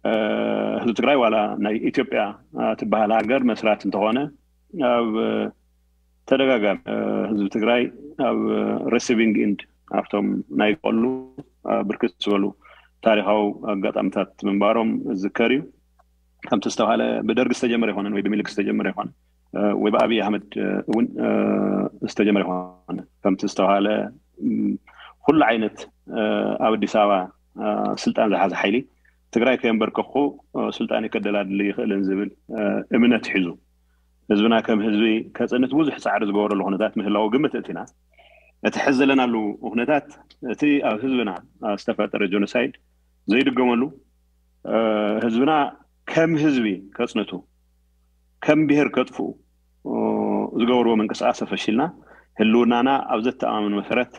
ህዝቢ ትግራይ ዋላ ናይ ኢትዮጵያ ትበሃል ሃገር መስራት እንተኾነ ኣብ ተደጋጋሚ ህዝቢ ትግራይ ኣብ receiving end ኣብቶም ናይ ቀሉ ብርክት ዝበሉ ታሪካዊ ኣጋጣሚታት ምንባሮም ዝዝከር እዩ። ከምቲ ዝተባሃለ ብደርግ ዝተጀመረ ይኮነን ወይ ብምኒልክ ዝተጀመረ ይኮነን ወይ ብኣብይ ኣህመድ እውን ዝተጀመረ ይኮነ። ከምቲ ዝተባሃለ ኩሉ ዓይነት ኣብ ኣዲስ ኣበባ ስልጣን ዝሓዘ ሓይሊ ትግራይ ከየንበርከኩ ስልጣን ከደላድል ይኽእልን ዝብል እምነት ሒዙ ህዝብና ከም ህዝቢ ከፅንት ብዙሕ ፃዕሪ ዝገበረሉ ኩነታት ምህላው ግምት እቲና። እቲ ሕዚ ዘለናሉ ኩነታት እቲ ኣብ ህዝብና ዝተፈጠረ genocide ዘይድገመሉ ህዝብና ከም ህዝቢ ከፅንቱ ከም ብሄር ከጥፍኡ ዝገበርዎ ምንቅስቃስ ተፈሺልና ህልውናና ኣብ ዘተኣማምን መሰረት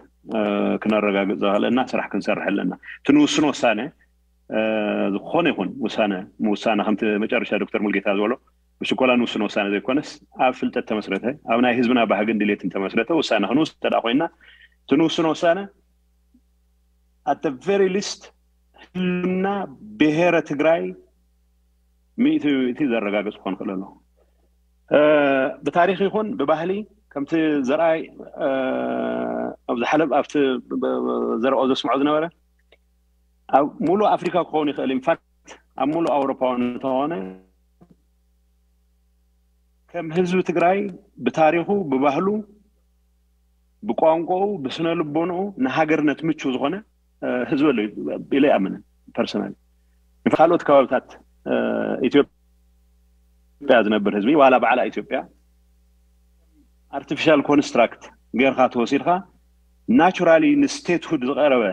ክነረጋግፅ ዘኽእለና ስራሕ ክንሰርሕ ኣለና። እቲ ንውስኖ ውሳነ ዝኾነ ይኹን ውሳነ ምውሳነ ከምቲ መጨረሻ ዶክተር ሙልጌታ ዝበሎ ብሽኮላ ንውስኖ ውሳነ ዘይኮነስ ኣብ ፍልጠት ተመስረተ ኣብ ናይ ህዝብና ባህግን ድሌትን ተመስረተ ውሳነ ክንውስ እንተ ኮይና እቲ ንውስኖ ውሳነ at the very least ህልና ብሄረ ትግራይ ሚእቲ ሚእቲ ዘረጋግፅ ክኾን ክእል ኣሎ። ብታሪክ ይኹን ብባህሊ ከምቲ ዘርኣይ ኣብ ዝሓለፍ ኣብቲ ዘርኦ ዘስምዖ ዝነበረ ኣብ ሙሉእ ኣፍሪካ ክኸውን ይኽእል። ኢንፋክት ኣብ ሙሉእ ኣውሮፓ እንተኾነ ከም ህዝቢ ትግራይ ብታሪኹ ብባህሉ ብቋንቋኡ ብስነ ልቦንኡ ንሃገርነት ምቹ ዝኾነ ህዝቢ ኣሎ ኢለ ይኣምንን ፐርሰናል። ካልኦት ከባብታት ኢትዮጵያ ዝነብር ህዝቢ ዋላ ባዕላ ኢትዮጵያ artificial construct ጌርካ ተወሲድካ ናቹራሊ ንስቴትሁድ ዝቀረበ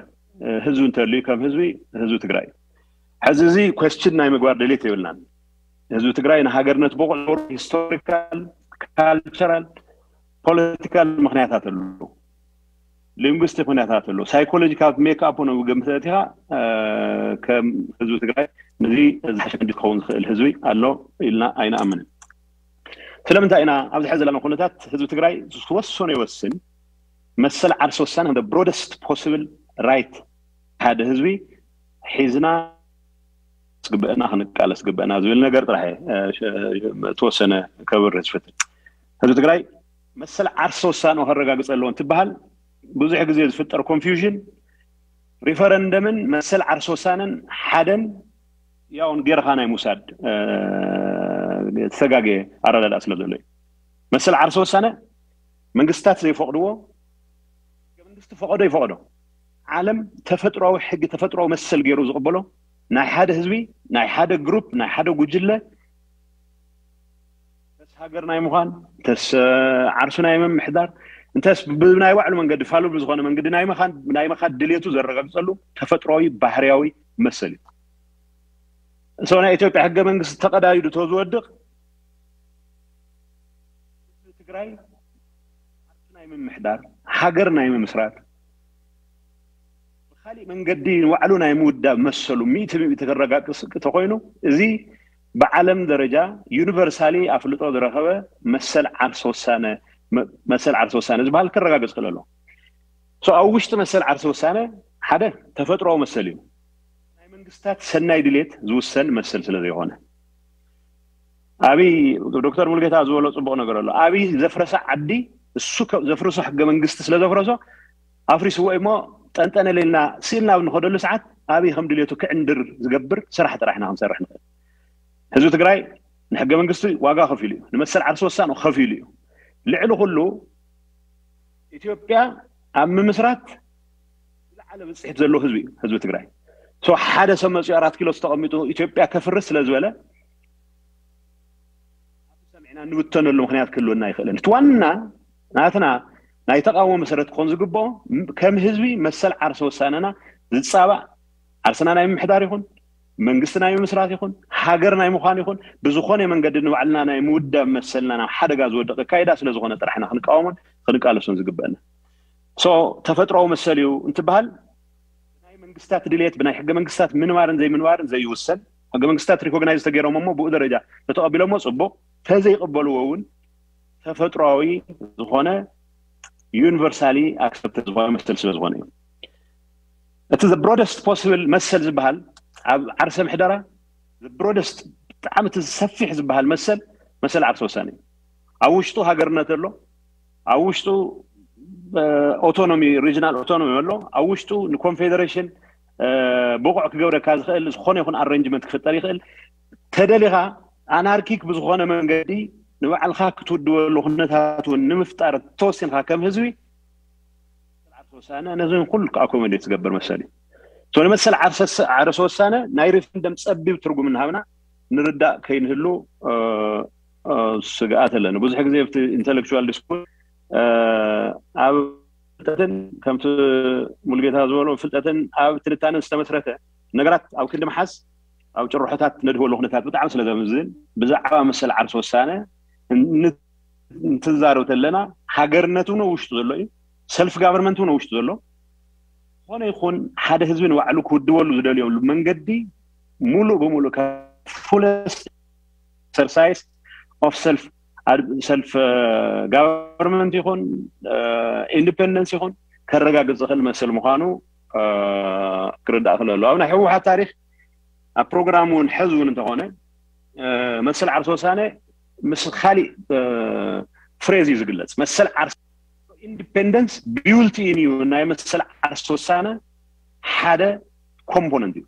ህዝቢ እንተልዩ ከም ህዝቢ ህዝቢ ትግራይ ሕዚ እዚ question ናይ ምግባር ድሌት የብልናን። ህዝቢ ትግራይ ንሃገርነት በቑዕ ነበሩ historical cultural political ምክንያታት ኣለዉ። linguistic ምክንያታት ኣለዉ። psychological make up ነ ገምተት ኢኻ ከም ህዝቢ ትግራይ ነዚ ዝሓሸ መንዲ ክኸውን ዝኽእል ህዝቢ ኣሎ ኢልና ኣይንኣምንን። ስለምንታይ ኢና ኣብዚ ሕዚ ዘለና ኩነታት ህዝቢ ትግራይ ዝወሰኖ ይወስን መሰል ዓርሲ ወሳነ the broadest possible right ሓደ ህዝቢ ሒዝና ዝግበአና ክንቃለስ ዝግበአና ዝብል ነገር ጥራሕ ተወሰነ ከብር ዝፍትን ህዝቢ ትግራይ መሰል ዓርሲ ወሳነ ከረጋግፅ ኣለዎ እንትበሃል ብዙሕ ግዜ ዝፍጠር confusion referendum ን መሰል ዓርሲ ወሳነን ሓደን ያውን ጌርኻ ናይ ምውሳድ ዝተጋገየ ኣረዳድኣ ስለ ዘሎ እዩ። መሰል ዓርሲ ወሳነ መንግስታት ዘይፈቕድዎ መንግስቲ ፈቐዶ ይፈቐዶ ዓለም ተፈጥሮዊ ሕጊ ተፈጥሮዊ መሰል ገይሩ ዝቕበሎ ናይ ሓደ ህዝቢ ናይ ሓደ group ናይ ሓደ ጉጅለ ተስ ሃገር ናይ ምዃን ተስ ዓርሱ ናይ ምምሕዳር እንተስ ብናይ ባዕሉ መንገዲ ፋሉል ብዝኾነ መንገዲ ናይ ምኻድ ድሌቱ ዘረጋግፀሉ ተፈጥሮዊ ባህርያዊ መሰል እዩ። ሰው ናይ ኢትዮጵያ ሕገ መንግስቲ ተቐዳዲዱ ተዝወድቕ ትግራይ ናይ ምምሕዳር ሃገር ናይ ምምስራት ብካሊእ መንገዲ ንባዕሉ ናይ ምውዳብ መሰሉ ሚእቲ ሚእቲ ክረጋግፅ ተኮይኑ እዚ ብዓለም ደረጃ ዩኒቨርሳሊ ኣፍልጦ ዝረኸበ መሰል ዓርሲ ወሳነ መሰል ዓርሲ ወሳነ ዝበሃል ክረጋግፅ ክእል ኣሎ። ኣብ ውሽጢ መሰል ዓርሲ ወሳነ ሓደ ተፈጥሮዊ መሰል እዩ። ናይ መንግስታት ሰናይ ድሌት ዝውሰን መሰል ስለ ዘይኮነ ኣብይ ዶክተር ሙልጌታ ዝበሎ ፅቡቅ ነገር ኣሎ። ኣብይ ዘፍረሰ ዓዲ እሱ ዘፍርሶ ሕገ መንግስቲ ስለ ዘፍረሶ ኣፍሪስዎ እሞ ጠንጠነ ሌልና ስእልና ኣብ ንኸደሉ ሰዓት ኣብይ ከም ድሌቱ ክዕንድር ዝገብር ስራሕ ጥራሕና ክንሰርሕ ንኽእል። ህዝቢ ትግራይ ንሕገ መንግስቲ ዋጋ ከፊሉ እዩ። ንመሰል ዓርሲ ወሳኑ ከፊሉ እዩ። ልዕሊ ኩሉ ኢትዮጵያ ኣብ ምምስራት ዝለዓለ ብፅሒት ዘለዎ ህዝቢ እዩ ህዝቢ ትግራይ። ሓደ ሰብ መፅኡ ኣራት ኪሎ ዝተቐሚጡ ኢትዮጵያ ከፍርስ ስለ ዝበለ ሰሚዕና እንብተነሉ ምክንያት ክህልወና ይኽእልን። እቲ ዋና ናትና ናይ ተቃውሞ መሰረት ክኾን ዝግብኦ ከም ህዝቢ መሰል ዓርሲ ወሳነና ዝፃባእ ዓርስና ናይ ምምሕዳር ይኹን መንግስቲ ናይ ምምስራት ይኹን ሃገር ናይ ምዃን ይኹን ብዝኾነ መንገዲ ንባዕልና ናይ ምውዳብ መሰልና ናብ ሓደጋ ዝወድቕ ኣካይዳ ስለ ዝኾነ ጥራሕና ክንቃወሞን ክንቃለሶን ዝግበአና። ተፈጥሮዊ መሰል እዩ እንትበሃል ብናይ መንግስታት ድልየት ብናይ ሕገ መንግስታት ምንባርን ዘይምንባርን ዘይውሰን ሕገ መንግስታት recognize ተገይሮም እሞ ብኡ ደረጃ ተተቐቢሎሞ ፅቡቕ ተዘይቕበልዎ እውን ተፈጥሮዊ ዝኾነ universally accepted ዝኾነ መሰል ስለ ዝኾነ እዩ። እቲ broadest possible መሰል ዝበሃል ኣብ ዓርሰ ምሕደራ ብሮደስት ብጣዕሚ እቲ ሰፊሕ ዝበሃል መሰል መሰል ዓርሰ ውሳነ እዩ። ኣብ ውሽጡ ሃገርነት ኣሎ፣ ኣብ ውሽጡ ኣውቶኖሚ፣ ሪጅናል ኣውቶኖሚ ኣሎ፣ ኣብ ውሽጡ ንኮንፌደሬሽን ብቑዕ ክገብረካ ዝኽእል ዝኾነ ይኹን ኣረንጅመንት ክፍጠር ይኽእል። ተደሊኻ ኣናርኪክ ብዝኾነ መንገዲ ንባዕልካ ክትውድበሉ ኩነታት እውን ንምፍጣር ተወሲንካ ከም ህዝቢ ዓርሰ ውሳነ ነዚ ኩሉ ኣኮሞዴት ዝገብር መሰል እዩ። ንመሰል ዓርሰ ውሳነ ናይ ሪፈረንደም ፀቢብ ትርጉም እናሃብና ንርዳእ ከይንህሉ ስግኣት ኣለኒ። ብዙሕ ግዜ ኣብቲ ኢንተሌክቹዋል ዲስኩር ኣብ ፍልጠትን ከምቲ ሙሉጌታ ዝበሎ ፍልጠትን ኣብ ትንታነን ዝተመስረተ ነገራት ኣብ ክንዲ ምሓዝ ኣብ ጭርሖታት ነድህበሉ ኩነታት ብጣዕሚ ስለ ዘምዝን ብዛዕባ መሰል ዓርሰ ውሳነ እንትዛረብ ተለና ሃገርነት እውን ውሽጡ ዘሎ እዩ፣ ሰልፍ ጋቨርንመንት እውን ውሽጡ ዘሎ ዝኾነ ይኹን ሓደ ህዝቢ ንባዕሉ ክውድበሉ ዝደልየሉ መንገዲ ሙሉእ ብሙሉእ ፉለስት ኤክሰርሳይዝ ኦፍ ሰልፍ ሰልፍ ጋቨርንመንት ይኹን ኢንዲፔንደንስ ይኹን ከረጋግፅ ዝኽእል መሰል ምዃኑ ክርዳእ ክለሉ ኣብ ናይ ህወሓት ታሪክ ኣብ ፕሮግራም እውን ሕዚ እውን እንተኾነ መሰል ዓርሰ ውሳነ ምስ ካሊእ ፍሬዝ እዩ ዝግለፅ። መሰል ዓርሰ ኢንዲፔንደንስ ቢውልት ኢን እዩ ናይ መሰል ዓርሰ ውሳነ ሓደ ኮምፖነንት እዩ።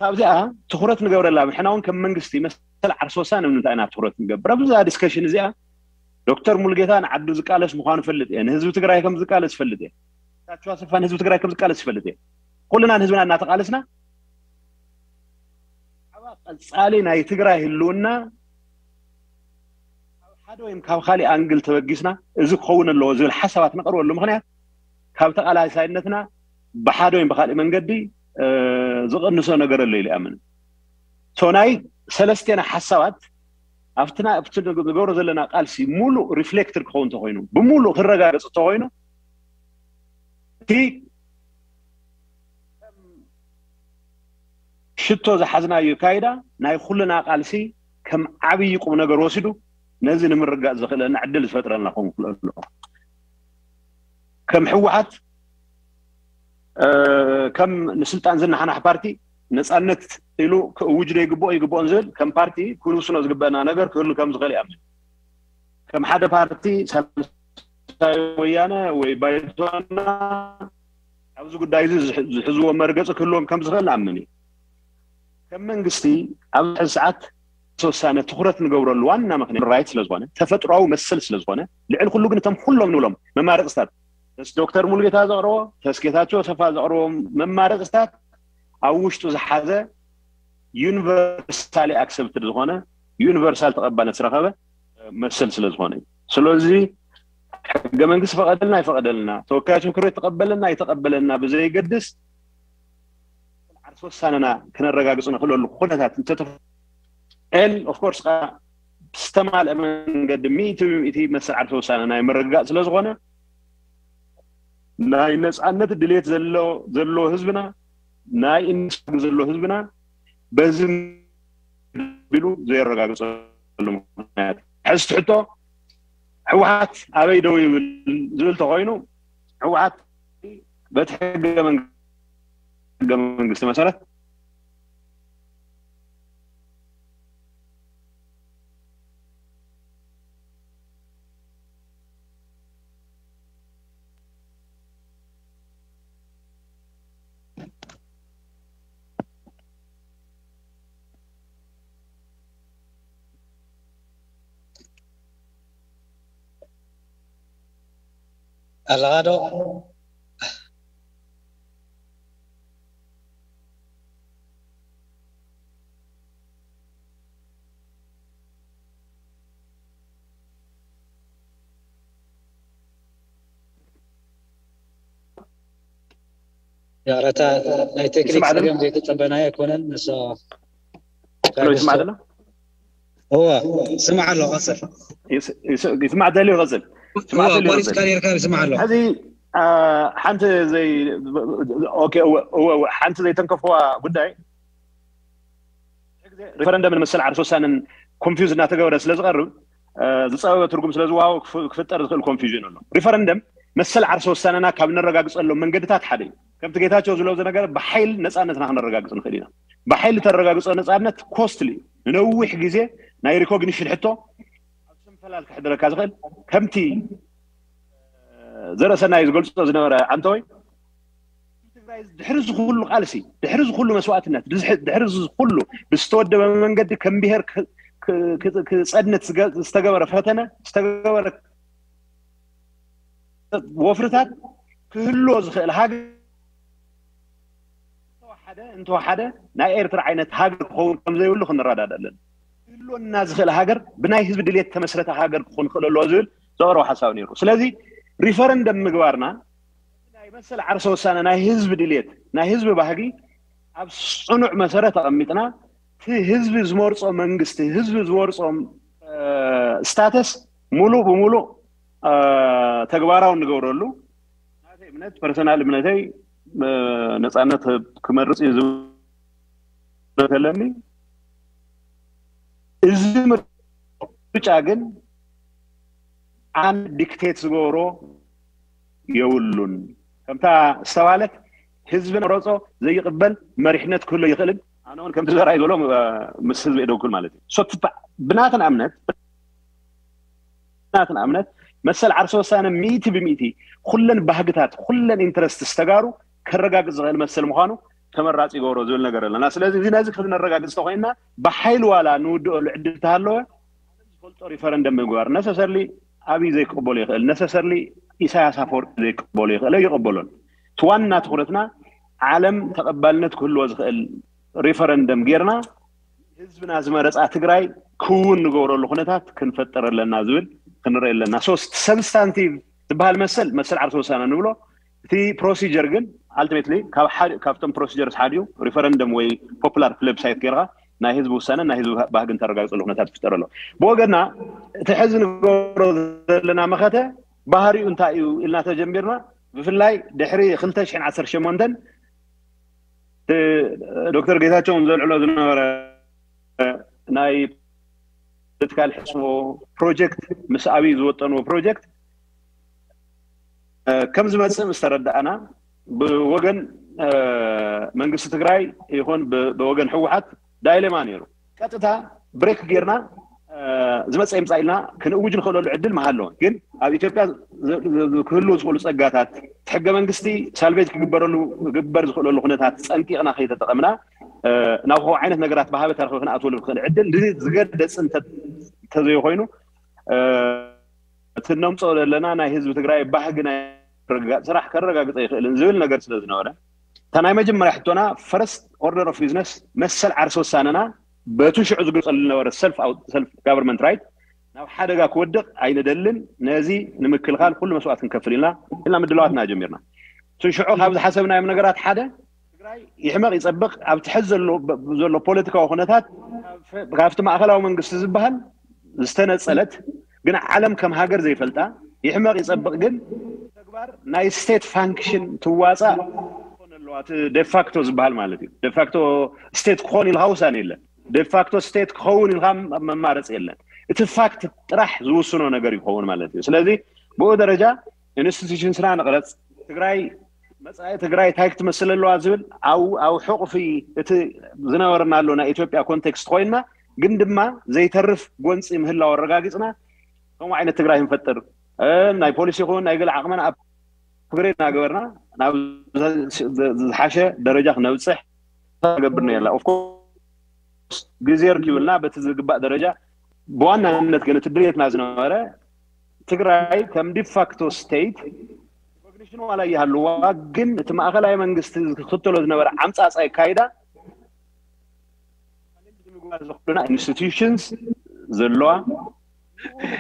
ካብዚኣ ትኩረት ንገብረላ ምሕና እውን ከም መንግስቲ መሰል ዓርሰ ውሳነ ንምንታይ ኢና ትኩረት ንገብር ኣብዚ ዲስከሽን እዚኣ ዶክተር ሙሉጌታ ንዓዱ ዝቃለስ ምዃኑ ፈልጥ እየ። ንህዝቢ ትግራይ ከም ዝቃለስ ፈልጥ እየ። ታቸው ኣሰፋ ንህዝቢ ትግራይ ከም ዝቃለስ ፈልጥ እየ። ኩልና ንህዝብና እናተቃለስና ቀፃሊ ናይ ትግራይ ህልውና ካብ ሓደ ወይም ካብ ካሊእ ኣንግል ተበጊስና እዚ ክኸውን ኣለዎ ዝብል ሓሳባት ነቅርበሉ ምክንያት ካብ ተቃላሳይነትና ብሓደ ወይም ብካሊእ መንገዲ ዝቅንሶ ነገር ኣሎ ኢሉ ይኣምን። ናይ ሰለስቴና ሓሳባት ኣብትና ኣብቲ ንገብሮ ዘለና ቃልሲ ሙሉእ ሪፍሌክትድ ክኸውን እንተኮይኑ ብሙሉእ ክረጋገፅ እንተኮይኑ እቲ ሽቶ ዝሓዝናዮ ካይዳ ናይ ኩልና ቃልሲ ከም ዓብዪ ቁም ነገር ወሲዱ ነዚ ንምርጋፅ ዘኽእለና ዕድል ዝፈጥረልና ክኸውን ክኽእል ኣለዎ። ከም ህወሓት ከም ንስልጣን ዝነሓናሕ ፓርቲ ነፃነት ኢሉ ክእውጅ ዶ ይግብኦ ይግብኦን ዝብል ከም ፓርቲ ክንውስኖ ዝግበአና ነገር ክህሉ ከም ዝኽእል ይኣምን። ከም ሓደ ፓርቲ ሳልሳይ ወያነ ወይ ባይቶና ኣብዚ ጉዳይ እዚ ዝሕዝዎ መርገፂ ክህልዎም ከም ዝኽእል ንኣምን እዩ። ከም መንግስቲ ኣብዚ ሕዚ ሰዓት ተወሳነ ትኩረት ንገብረሉ ዋና ምክንያት ራይት ስለዝኾነ ተፈጥሯዊ መሰል ስለዝኾነ ልዕሊ ኩሉ ግን እቶም ኩሎም ንብሎም መማረፅታት ተስ ዶክተር ሙሉጌታ ዘቕረቦ ተስ ጌታቸው ሰፋ ዘቕረቦም መማረፅታት ኣብ ውሽጡ ዝሓዘ ዩኒቨርሳሊ ኣክሰፕትድ ዝኾነ ዩኒቨርሳል ተቐባልነት ዝረኸበ መሰል ስለዝኾነ እዩ። ስለዚ ሕገ መንግስቲ ፈቐደልና ይፈቐደልና ተወካዮች ምክር ቤት ተቐበለና ይተቐበለና ብዘይገድስ ዓርሰ ውሳነና ክነረጋግፅ ንኽእለሉ ኩነታት እንተተፈ ኦፍኮርስ ዝተማልአ መንገዲ ሚእቲ ብሚእቲ መሰል ዓርሰ ውሳነ ናይ ምርግጋፅ ስለዝኾነ ናይ ነፃነት ድሌት ዘሎ ህዝብና ናይ ኢንዱስትሪ ዘሎ ህዝብና በዚ ቢሉ ዘየረጋግፀሉ ምክንያት ሕዚ ትሕቶ ህወሓት ኣበይ ደው ይብል ዝብል ተኮይኑ ህወሓት በቲ ሕገ መንግስቲ መሰረት ኣለኻ ዶ? ይቕረታ ናይ ቴክኒክ ይስማዕ ዶ? ጸገም ዘይተጸበናዮ ኣይኮነን። ንሶ ሎ ይስማዕ ዘሎ? እወ፣ ስማዕ ኣሎ፣ ቀጽል። ይስ- ይስ- ይስማዕ ደልዩ ይቐጽል። ይስማዕ እወ፣ ደልዩ ቆሪጽካ ይቐጽል። ነርካ፣ ይስማዕ ኣሎ። ሕዚ ሓንቲ ዘይ ኦኬ፣ እወ፣ እወ፣ እወ፣ ሓንቲ ዘይተንከፍዋ ጉዳይ ሪፈረንደምን መሰል ዓርሰ ውሳነን ኮንፊውዝ እናተገበረ ስለ ዝቐርብ ዝፀበበ ትርጉም ስለ ዝወሃቦ ክፍጠር ዝኽእል ኮንፊውዥን ኣሎ። ሪፈረንደም መሰል ዓርሰ ውሳነና ካብ ነረጋግፀሎም መንገድታት ሓደ እዩ። ከምቲ ጌታቸው ዝብሎ ዝነበረ ብሓይል ነፃነትና ክነረጋግፅ ንኽእል ኢና። ብሓይሊ ተረጋግጾ ነፃነት ኮስትሊ እዩ። ንነዊሕ ግዜ ናይ ሪኮግኒሽን ሕቶ ኣብ ሰንፈላል ከሕድረካ ዝኽእል ከምቲ ዘረሰናይ ዝገልጾ ዝነበረ ኣንተወይ ትግራይ ድሕሪ ዝኩሉ ቃልሲ ድሕሪ ዝኩሉ መስዋእትነት ድሕሪ ዝኩሉ ብዝተወደበ መንገዲ ከም ብሄር ክፀድነት ዝተገበረ ፈተነ ዝተገበረ ወፍርታት ክህልዎ ዝኽእል ሃገር እንተወሓደ እንተወሓደ ናይ ኤርትራ ዓይነት ሃገር ክኸውን ከም ዘይብሉ ክንረዳዳ ኣለና። ክህልወና ዝኽእል ሃገር ብናይ ህዝቢ ድሌት ተመስረተ ሃገር ክኾን ክእል ኣለዎ ዝብል ዘቕረቦ ሓሳብ ነይሩ። ስለዚ ሪፈረንደም ምግባርና ናይ መሰል ዓርሰ ውሳነ ናይ ህዝቢ ድሌት ናይ ህዝቢ ባህጊ ኣብ ፅኑዕ መሰረት ኣቐሚጥና እቲ ህዝቢ ዝመርፆ መንግስቲ ህዝቢ ዝመርፆ ስታተስ ሙሉእ ብሙሉእ ተግባራዊ እንገብረሉ ናተይ እምነት ፐርሰናል እምነተይ ነፃነት ክመርፅ እዩ ዝብለተለኒ እዚ ምርጫ ግን ኣነ ዲክቴት ዝገብሮ የብሉን። ከምታ ዝተባለት ህዝቢ መረፆ ዘይቅበል መሪሕነት ክህሎ ይኽእልን ኣነ እውን ከምቲ ዘርኣይ ዘሎ ምስ ህዝቢ የደውክል ማለት እዩ። ብናትና እምነት ናትና እምነት መሰል ዓርሰ ወሳነ ሚእቲ ብሚእቲ ኩለን ባህግታት ኩለን ኢንትረስት ዝተጋሩ ከረጋግፅ ዝኽእል መሰል ምዃኑ ተመራፂ ይገብሮ ዝብል ነገር ኣለና። ስለዚ እዚ ነዚ ክነረጋግፅ ተኮይንና ብሓይሊ ዋላ ንውድኦሉ ዕድል ተሃለወ ዝፈልጦ ሪፈረንደም ምግባር ነሰሰርሊ ኣብይ ዘይቅበሎ ይኽእል፣ ነሰሰርሊ ኢሳያስ ኣፈወርቂ ዘይቅበሎ ይኽእል፣ ኣይቅበሎን። እቲ ዋና ትኩረትና ዓለም ተቐባልነት ክህልዎ ዝኽእል ሪፈረንደም ጌርና ህዝብና ዝመረፃ ትግራይ ክውን ንገብረሉ ኩነታት ክንፈጥር ኣለና ዝብል ክንርኢ ኣለና። ሶስት ሰብስታንቲቭ ዝበሃል መሰል መሰል ዓርሰ ውሳነ ንብሎ እቲ ፕሮሲጀር ግን ኣልቲሜትሊ ካብቶም ፕሮሲጀርስ ሓደ እዩ። ሪፈረንደም ወይ ፖፑላር ፕለብሳይት ጌርካ ናይ ህዝቢ ውሳነ ናይ ህዝቢ ባህግን ተረጋግፀሉ ኩነታት ይፍጠር ኣሎ። ብወገና እቲ ሕዚ ንገብሮ ዘለና መኸተ ባህሪኡ እንታይ እዩ ኢልና ተጀሚርና ብፍላይ ድሕሪ ክልተ ሽሕን ዓሰርተ ሸሞንተን ዶክተር ጌታቸውን ዘልዕሎ ዝነበረ ናይ ፖለቲካል ሕስቦ ፕሮጀክት ምስ ኣብይ ዝወጠንዎ ፕሮጀክት ከም ዝመፅእ ምስ ተረዳእና ብወገን መንግስቲ ትግራይ ይኹን ብወገን ህወሓት ዳይሌማ ነይሩ። ቀጥታ ብሬክ ጌርና ዝመፀ ይምፃእ ኢልና ክንእውጅ ንኽእለሉ ዕድል መሃለወ። ግን ኣብ ኢትዮጵያ ክህልው ዝኽእሉ ፀጋታት ሕገ መንግስቲ ሳልቬጅ ክግበረሉ ክግበር ዝኽእለሉ ኩነታት ፀንቂቕና ከይተጠቐምና ናብ ከምኡ ዓይነት ነገራት ብሃበታ ክንኣትወሉ ንኽእል ዕድል ዝገደፅ እንተዘይኮይኑ እቲ ነምፅኦ ዘለና ናይ ህዝቢ ትግራይ ባህጊ ናይ ስራሕ ከረጋግፀ ይኽእልን ዝብል ነገር ስለ ዝነበረ እታ ናይ መጀመርያ ሕቶና ፈረስት ኦርደር ኦፍ ቢዝነስ መሰል ዓርሰ ውሳነና በቲ ሽዑ ዝግልፀሉ ዝነበረ ሰልፍ ጋቨርንመንት ራይት ናብ ሓደጋ ክወድቕ ኣይንደልን። ነዚ ንምክልኻል ኩሉ መስዋእት ክንከፍል ኢልና ኢልና ምድላዋትና ጀሚርና። እቲ ሽዑ ካብ ዝሓሰብናዮም ነገራት ሓደ ትግራይ ይሕመቕ ይፀብቕ ኣብቲ ሕዚ ዘሎ ፖለቲካዊ ኩነታት ካብቲ ማእኸላዊ መንግስቲ ዝበሃል ዝተነፀለት ግን ዓለም ከም ሃገር ዘይፈልጣ ይሕመቕ ይፀብቕ ግን ተግባር ናይ ስቴት ፋንክሽን ትዋፃእ ኣለዋ። ዴፋክቶ ዝበሃል ማለት እዩ። ዴፋክቶ ስቴት ክኾን ኢልካ ውሳኔ የለን። ዴፋክቶ ስቴት ክኸውን ኢልካ መማረፂ የለን። እቲ ፋክት ጥራሕ ዝውስኖ ነገር ይኸውን ማለት እዩ። ስለዚ ብኡ ደረጃ ኢንስቲቱሽንስና ንቕረፅ። ትግራይ መፃኢ ትግራይ እንታይ ክትመስል ኣለዋ ዝብል ኣብ ሕቑፊ እቲ ዝነበረናሉ ናይ ኢትዮጵያ ኮንቴክስት ኮይንና ግን ድማ ዘይተርፍ ጎንፂ ምህላው ኣረጋጊፅና ከምኡ ዓይነት ትግራይ ክንፈጥር ናይ ፖሊሲ ይኹን ናይ ገለ ዓቕመና ኣፕግሬድ እናገበርና ናብ ዝሓሸ ደረጃ ክነብፅሕ ገብርና የላ ኦፍኮርስ ግዜ ርኪብልና በቲ ዝግባእ ደረጃ ብዋናነት ግን እቲ ድሌትና ዝነበረ ትግራይ ከም ዲፋክቶ ስቴት ሪኮግኒሽን ዋላ ይሃልዋ ግን እቲ ማእኸላይ መንግስቲ ዝክተሎ ዝነበረ ዓምፃፃይ ካይዳ ንምግባር ዘኽእሉና ኢንስቲቱሽንስ ዘለዋ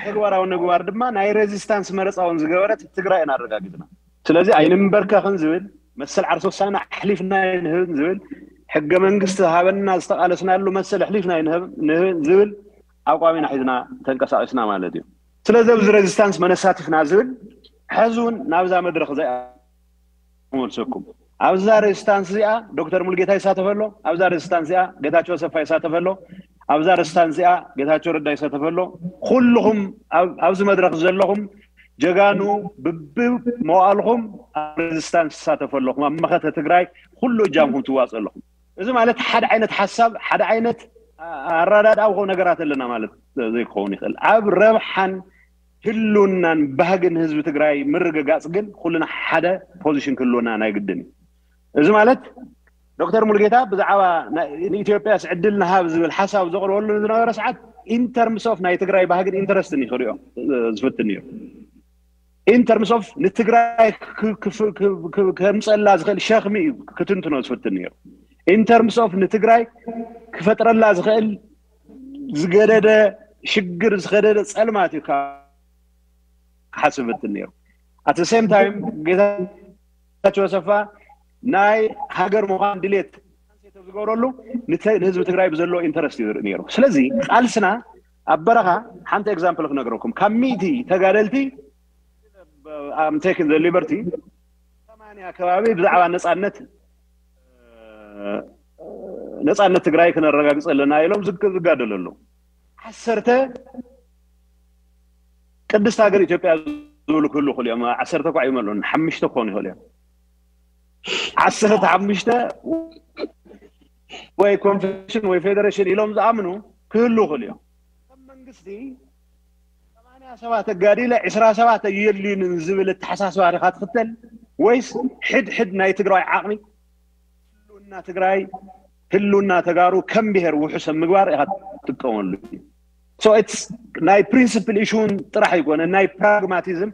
ተግባራዊ ንምግባር ድማ ናይ ሬዚስታንስ መረፃ እውን ዝገበረት ትግራይ ኢና ኣረጋጊፅና። ስለዚ ኣይንንበርከኽን ዝብል መሰል ዓርሰ ውሳነ ኣሕሊፍና ይንህብን ዝብል ሕገ መንግስቲ ሃበና ዝተቃለስናሉ መሰል ኣሕሊፍና ይንህብን ዝብል ኣቋም ኢና ሒዝና ተንቀሳቂስና ማለት እዩ። ስለዚ ኣብዚ ሬዚስታንስ መን ኣሳቲፍና ዝብል ሕዚ እውን ናብዛ መድረክ እዚኣ ክመልሰኩም ኣብዛ ሬዚስታንስ እዚኣ ዶክተር ሙሉጌታ ይሳተፍ ኣሎ። ኣብዛ ሬዚስታንስ እዚኣ ጌታቸው ኣሰፋ ይሳተፍ ኣሎ። ኣብዛ ሬዚስታንስ እዚኣ ጌታቸው ረዳ ይሳተፍ ኣሎ። ኩልኹም ኣብዚ መድረክ ዘለኹም ጀጋኑ ብብመዋእልኹም ኣብ ሬዚስታንስ ትሳተፉ ኣለኹም። ኣብ መኸተ ትግራይ ኩሉ እጃምኩም ትዋፅኡ ኣለኹም። እዚ ማለት ሓደ ዓይነት ሓሳብ ሓደ ዓይነት ኣረዳድኣ ኮ ነገራት ኣለና ማለት ዘይክኸውን ይኽእል። ኣብ ረብሓን ህልውናን ባህግን ህዝቢ ትግራይ ምርግጋፅ ግን ኩልና ሓደ ፖዚሽን ክህልወና ናይ ግድን እዩ። እዚ ማለት ዶክተር ሙሉጌታ ብዛዕባ ንኢትዮጵያ ዕድል ንሃብ ዝብል ሓሳብ ዘቕርበሉ ዝነበረ ሰዓት in terms of ናይ ትግራይ ባህግን ኢንተረስትን ይኽሪኦ ዝፍትን እዩ። In terms of ንትግራይ ከምፀላ ዝኽእል ሸኽሚ እዩ ክትንትኖ ዝፍትን ነይሩ። In terms of ንትግራይ ክፈጥረላ ዝኽእል ዝገደደ ሽግር ዝኸደደ ፀልማት እዩ ሓስብ ዝፍትን ነይሩ። At the same time ጌታቸው ኣሰፋ ናይ ሃገር ምዃን ድሌት ዝገብረሉ ንህዝቢ ትግራይ ብዘለዎ ኢንተረስት እዩ ዝርኢ ነይሩ። ስለዚ ቃልስና ኣብ በረኻ ሓንቲ ኤግዛምፕል ክነግረኩም ካብ ሚእቲ ተጋደልቲ I'm taking the liberty ሰማንያ ከባቢ ብዛዕባ ነፃነት ነፃነት ትግራይ ክነረጋግፅ ኣለና ኢሎም ዝጋደሉ ኣለዉ። ዓሰርተ ቅድስት ሃገር ኢትዮጵያ ዝብሉ ክህሉ ይኽእሉ እዮም። ዓሰርተ እኳ ይመልኡን ሓሙሽተ ክኾኑ ይኽእሉ እዮም። ዓሰርተ ሓሙሽተ ወይ ኮንፌዴሬሽን ወይ ፌዴሬሽን ኢሎም ዝኣምኑ ክህሉ ይኽእሉ እዮም። ከም መንግስቲ ሰማንያ ሰባት ኣጋዲለ ዕስራ ሰባት ኣየድልዩንን ዝብል ኣተሓሳስባ ዲኻ ትኽተል ወይስ ሕድሕድ ናይ ትግራዋይ ዓቕሚ ህልውና ትግራይ ህልውና ተጋሩ ከም ብሄር ውሑስ ኣብ ምግባር ኢኻ ትጥቀመሉ። So it's ናይ ፕሪንስፕል ኢሹን ጥራሕ ኣይኮነ ናይ ፕራግማቲዝም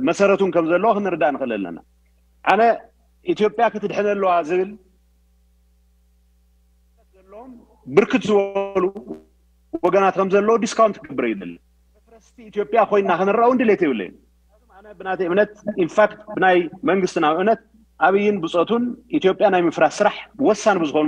መሰረቱን ከም ዘለዎ ክንርዳእ ንኽእል ኣለና። ኣነ ኢትዮጵያ ክትድሕን ኣለዋ ዝብል ዘለዎም ብርክት ዝበሉ ወገናት ከም ዘለዎ ዲስካውንት ክገብር ይደሊ። መፍረስቲ ኢትዮጵያ ኮይና ክንረኣ እውን ድሌት የብለይን። ኣነ ብናተይ እምነት ኢንፋክት ብናይ መንግስትና እምነት ኣብይን ብፆቱን ኢትዮጵያ ናይ ምፍራስ ስራሕ ወሳኒ ብዝኾኑ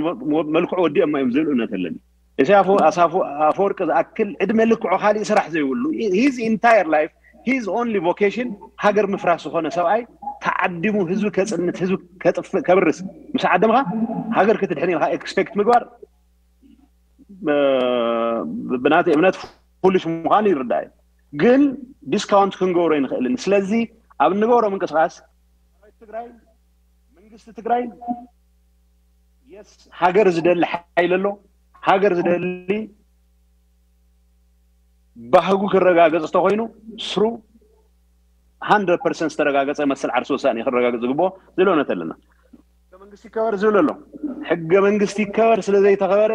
መልክዑ ወዲኦሞ እዮም ዝብል እምነት ኣለኒ። ኢሳያስ ኣሳፎ ኣፈወርቂ ዝኣክል ዕድመ ልክዑ ካሊእ ስራሕ ዘይብሉ his entire life his only vocation ሃገር ምፍራስ ዝኾነ ሰብኣይ ተዓዲሙ ህዝቢ ከፅንት ህዝቢ ከጥፍእ ከብርስ ምስ ዓደምካ ሃገር ክትድሕን ኢልካ ኤክስፔክት ምግባር ብናተይ እምነት ፉሊሽ ምዃኑ ይርዳእ እዩ። ግን ዲስካውንት ክንገብሮ ይንኽእልን። ስለዚ ኣብ እንገብሮ ምንቅስቃስ ትግራይ መንግስቲ ትግራይ የስ ሃገር ዝደሊ ሓይል ኣሎ። ሃገር ዝደሊ ባህጉ ክረጋገፅ እንተኮይኑ ስሩ ሃንድረድ ፐርሰንት ዝተረጋገፀ መሰል ዓርሲ ውሳኔ ክረጋገፅ ዝግብኦ ዝብል እምነት ኣለና። ሕገ መንግስቲ ይከበር ዝብል ኣሎ። ሕገ መንግስቲ ይከበር ስለዘይተኸበረ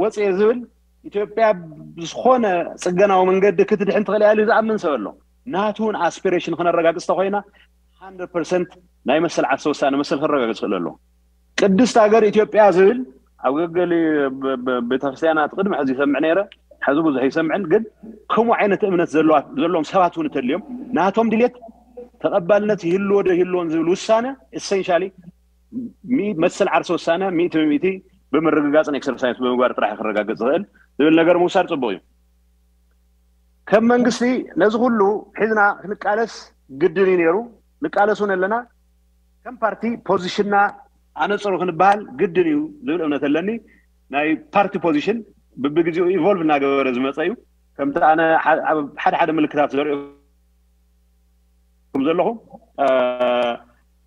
ወፅየ ዝብል ኢትዮጵያ ብዝኾነ ፅገናዊ መንገዲ ክትድሕን ትኽእል እያ ኢሉ ዝኣምን ሰብ ኣሎ። ናቱ እውን ኣስፒሬሽን ክነረጋግፅ ተኮይና ሃንድረድ ፐርሰንት ናይ መሰል ዓርሲ ውሳነ መሰል ክረጋግፅ ክእል ኣለዎ። ቅድስት ሃገር ኢትዮጵያ ዝብል ኣብ ገገሊ ቤተክርስትያናት ቅድሚ ሕዚ ይሰምዕ ነይረ፣ ሕዚ ብዙሕ ይሰምዕን፣ ግን ከምኡ ዓይነት እምነት ዘለዎም ሰባት እውን እንተልዮም ናቶም ድሌት ተቐባልነት ይህልዎ ዶ ይህልዎን ዝብል ውሳነ ኤሰንሻሊ መሰል ዓርሲ ውሳነ ሚእቲ ብሚእቲ ብምርግጋፅን ኤክሰርሳይዝ ብምግባር ጥራሕ ክረጋገፅ ዝኽእል ዝብል ነገር ምውሳድ ፅቡቅ እዩ። ከም መንግስቲ ነዚ ኩሉ ሒዝና ክንቃለስ ግድን እዩ ነይሩ። ንቃለስ እውን ኣለና። ከም ፓርቲ ፖዚሽንና ኣነፅሩ ክንበሃል ግድን እዩ ዝብል እምነት ኣለኒ። ናይ ፓርቲ ፖዚሽን ብብግዜኡ ኢቮልቭ እናገበረ ዝመፀ እዩ። ከምቲ ኣነ ሓደ ሓደ ምልክታት ዘርእኩም ዘለኹ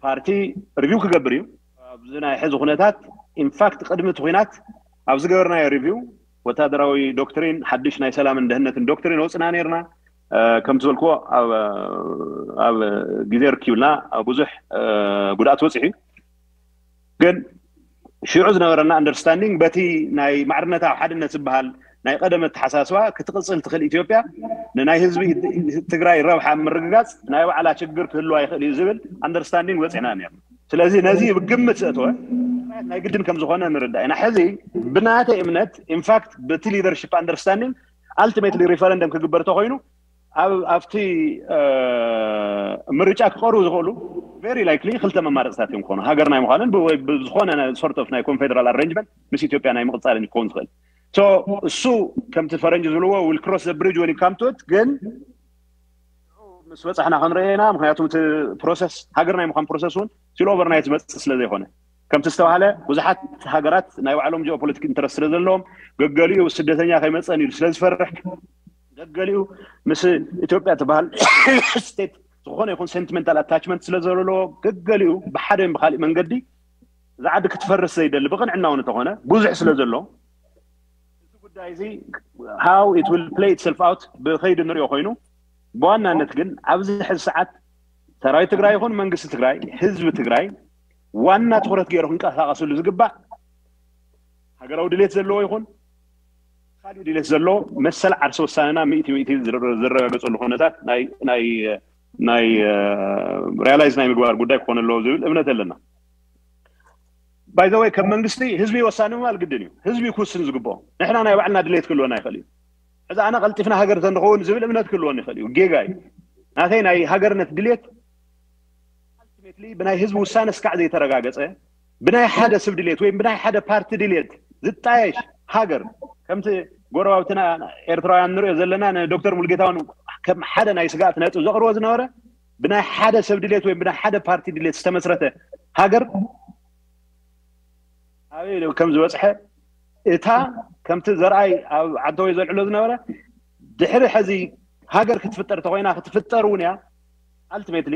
ፓርቲ ሪቪው ክገብር እዩ ኣብዚ ናይ ሕዚ ኩነታት። ኢንፋክት ቅድሚ እቲ ኩናት ኣብ ዝገበርናዮ ሪቪው ወታደራዊ ዶክትሪን ሓድሽ ናይ ሰላምን ደህንነትን ዶክትሪን ወፅና ነርና። ከም ዝበልክዎ ኣብ ግዜ ርኪብና ብዙሕ ጉድኣት በፂሑ እዩ። ግን ሽዑ ዝነበረና ኣንደርስታንዲንግ በቲ ናይ ማዕርነታዊ ሓድነት ዝበሃል ናይ ቀደም ኣተሓሳስባ ክትቕፅል ትኽእል ኢትዮጵያ ንናይ ህዝቢ ትግራይ ረብሓ ምርግጋፅ ናይ ባዕላ ችግር ክህልዋ ይኽእል እዩ ዝብል ኣንደርስታንዲንግ በፂሕና ነርና። ስለዚ ነዚ ብግምት ዘእተወ ናይ ግድን ከም ዝኾነ ንርዳእ ኢና። ሕዚ ብናተይ እምነት ኢንፋክት በቲ ሊደርሽፕ ኣንደርስታንዲንግ ኣልቲሜትሊ ሪፈረንደም ክግበር ተኮይኑ ኣብቲ ምርጫ ክቀርቡ ዝኽእሉ ቨሪ ላይክሊ ክልተ መማረፅታት እዮም ክኾኑ። ሃገር ናይ ምዃንን ብዝኾነ ሶርት ኦፍ ናይ ኮንፌደራል ኣሬንጅመንት ምስ ኢትዮጵያ ናይ ምቕፃልን ክኸውን ዝኽእል። እሱ ከምቲ ፈረንጅ ዝብልዎ ዊል ክሮስ ብሪጅ ወን ካም ቱ ኢት። ግን ምስ በፃሕና ክንርኤና ምክንያቱ እቲ ፕሮሰስ ሃገር ናይ ምዃን ፕሮሰስ እውን ሲል ኦቨርናይት ዝመፅእ ስለ ዘይኮነ ከምቲ ዝተባሃለ ብዙሓት ሃገራት ናይ ባዕሎም ጂኦፖለቲክ ኢንተረስት ስለ ዘለዎም ገገሊኡ ስደተኛ ከይመፀን ኢሉ ስለ ዝፈርሕ ገገሊኡ ምስ ኢትዮጵያ ትበሃል ስቴት ዝኾነ ይኹን ሴንቲመንታል ኣታችመንት ስለ ዘለዎ ገገሊኡ ብሓደ ብካሊእ መንገዲ እዛ ዓዲ ክትፈርስ ዘይደሊ ብቕንዕና እውን እንተኾነ ብዙሕ ስለ ዘሎ እዚ ጉዳይ እዚ how it will play itself out ብኸይዲ ንሪኦ ኮይኑ ብዋናነት ግን ኣብዚ ሕዚ ሰዓት ሰራዊት ትግራይ ይኹን መንግስቲ ትግራይ ህዝቢ ትግራይ ዋና ትኹረት ገይሩ ክንቀሳቀስሉ ዝግባእ ሃገራዊ ድሌት ዘለዎ ይኹን ካልእ ድሌት ዘለዎ መሰል ዓርሲ ውሳነና ሚእቲ ሚእቲ ዝረጋገፀሉ ኩነታት ናይ ናይ ናይ ሪያላይዝ ናይ ምግባር ጉዳይ ክኾን ኣለዎ ዝብል እምነት ኣለና። ባይዘወይ ከም መንግስቲ ህዝቢ ወሳኒ ምባል ግድን እዩ። ህዝቢ ክውስን ዝግብኦ ንሕና ናይ ባዕልና ድሌት ክህልወና ይኽእል እዩ። ሕዚ ኣነ ቀልጢፍና ሃገር ተንኸውን ዝብል እምነት ክህልወን ይኽእል እዩ። ጌጋ እዩ። ናተይ ናይ ሃገርነት ድሌት ኣልቲሜትሊ ብናይ ህዝቢ ውሳነ እስካዕ ዘይተረጋገፀ ብናይ ሓደ ሰብ ድሌት ወይም ብናይ ሓደ ፓርቲ ድሌት ዝጣየሽ ሃገር ከምቲ ጎረባብትና ኤርትራውያን ንሪኦ ዘለና ንዶክተር ሙልጌታውን ከም ሓደ ናይ ስጋእት ነጥብ ዘቕርቦ ዝነበረ ብናይ ሓደ ሰብ ድሌት ወይም ብናይ ሓደ ፓርቲ ድሌት ዝተመስረተ ሃገር ኣበይ ከም ዝበፅሐ እታ ከምቲ ዘርኣይ ኣብ ዓንተወይ ዘልዕሎ ዝነበረ ድሕሪ ሕዚ ሃገር ክትፍጠር ተኮይና ክትፍጠር እውን እያ ኣልቲሜትሊ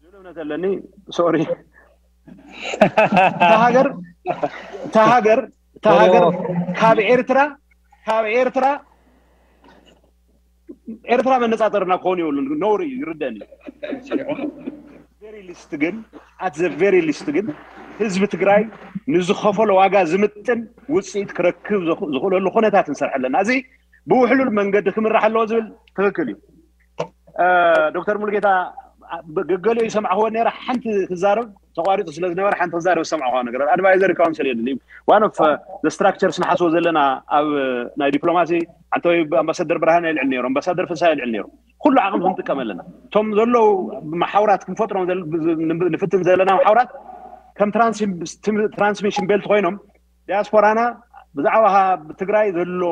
ዝብል እምነት ኣለኒ። ሶሪ ተሃገር ተሃገር ተሃገር ካብ ኤርትራ ካብ ኤርትራ ኤርትራ መነፃፀርና ክኾን ይብሉን ነውሪ እዩ ይርደኒ። ቨሪ ሊስት ግን ኣት ዘ ቨሪ ሊስት ግን ህዝቢ ትግራይ ንዝኸፈሎ ዋጋ ዝምጥን ውፅኢት ክረክብ ዝኽእለሉ ኩነታት ንሰርሐ ኣለና። እዚ ብውሕሉል መንገዲ ክምራሕ ኣለዎ ዝብል ትክክል እዩ። ዶክተር ሙሉጌታ ገገሊኡ ይሰማዕክዎ ነረ ሓንቲ ክዛረብ ተቋሪጡ ስለ ዝነበረ ሓንቲ ክዛረብ ዝሰማዕክዋ ነገር ኣድቫይዘሪ ካውንስል የለን። ዋን ኦፍ ስትራክቸርስ ንሓስቦ ዘለና ኣብ ናይ ዲፕሎማሲ ዓንተወይ ኣምባሳደር ብርሃን ይልዕል ነይሩ ኣምባሳደር ፍሳ ይልዕል ነይሩ ኩሉ ዓቕሚ ክንጥቀም ኣለና። እቶም ዘለዉ መሓውራት ክንፈጥሮም ንፍትን ዘለና መሓውራት ከም ትራንስሚሽን ቤልት ኮይኖም ዲያስፖራና ብዛዕባ ትግራይ ዘሎ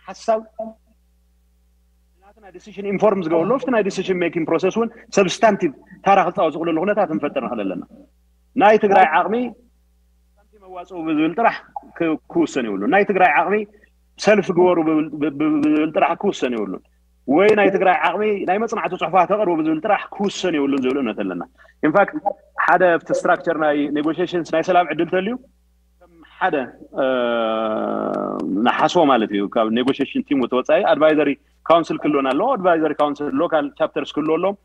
ሓሳብ ናትና ዲሲሽን ኢንፎርም ዝገብርሉ ኣብቲ ናይ ዲሲሽን ሜኪንግ ፕሮሰስ እውን ሰብስታንቲቭ ታራ ክፃወት ዝኽእለሉ ኩነታት ንፈጥር ንኽእል ኣለና። ናይ ትግራይ ዓቕሚ መዋፅኡ ብዝብል ጥራሕ ክውሰን ይብሉ። ናይ ትግራይ ዓቕሚ ሰልፍ ግበሩ ብዝብል ጥራሕ ክውሰን ይብሉን ወይ ናይ ትግራይ ዓቕሚ ናይ መፅናዕቲ ፅሑፋት ተቕርቡ ብዝብል ጥራሕ ክውሰን ይብሉን ዝብል እምነት ኣለና። ኢንፋክት ሓደ ኣብቲ ስትራክቸር ናይ ኔጎሽሽንስ ናይ ሰላም ዕድል ተልዩ ሓደ ንሓስቦ ማለት እዩ ካብ ኔጎሽሽን ቲም ተወፃኢ ኣድቫይዘሪ ካውንስል ክህልወና ኣለዎ። ኣድቫይዘሪ ካውንስል ሎካል ቻፕተርስ ክህልዎ ኣለዎም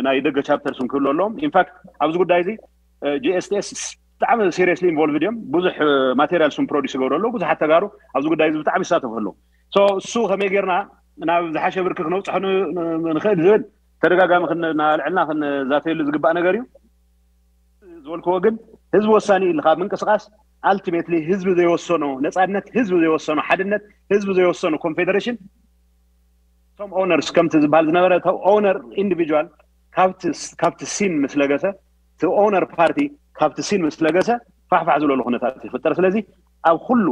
ናይ ደገ ቻፕተርስ ክህልዎ ኣለዎም። ኢንፋክት ኣብዚ ጉዳይ እዚ ጂኤስቲኤስ ብጣዕሚ ሲሪየስሊ ኢንቮልቭድ እዮም። ብዙሕ ማቴሪያል ስም ፕሮዲስ ይገብሩ ኣለዉ። ብዙሓት ተጋሩ ኣብዚ ጉዳይ እዚ ብጣዕሚ ይሳተፉ ኣለዉ። እሱ ከመይ ጌርና ናብ ዝሓሸ ብርኪ ክነብፅሖ ንኽእል ዝብል ተደጋጋሚ ክናልዕልና ክንዛተየሉ ዝግባእ ነገር እዩ። ዝበልክዎ ግን ህዝቢ ወሳኒ ኢልካ ምንቅስቃስ ኣልቲሜትሊ ህዝቢ ዘይወሰኖ ነፃነት ህዝቢ ዘይወሰኖ ሓድነት ህዝቢ ዘይወሰኖ ኮንፌደሬሽን እቶም ኦነርስ ከምቲ ዝበሃል ዝነበረ ኦነር ኢንዲቪጁዋል ካብቲ ሲን ምስ ለገሰ እቲ ኦነር ፓርቲ ካብቲ ሲን ምስ ለገሰ ፋሕፋሕ ዝብለሉ ኩነታት ይፍጠር። ስለዚ ኣብ ኩሉ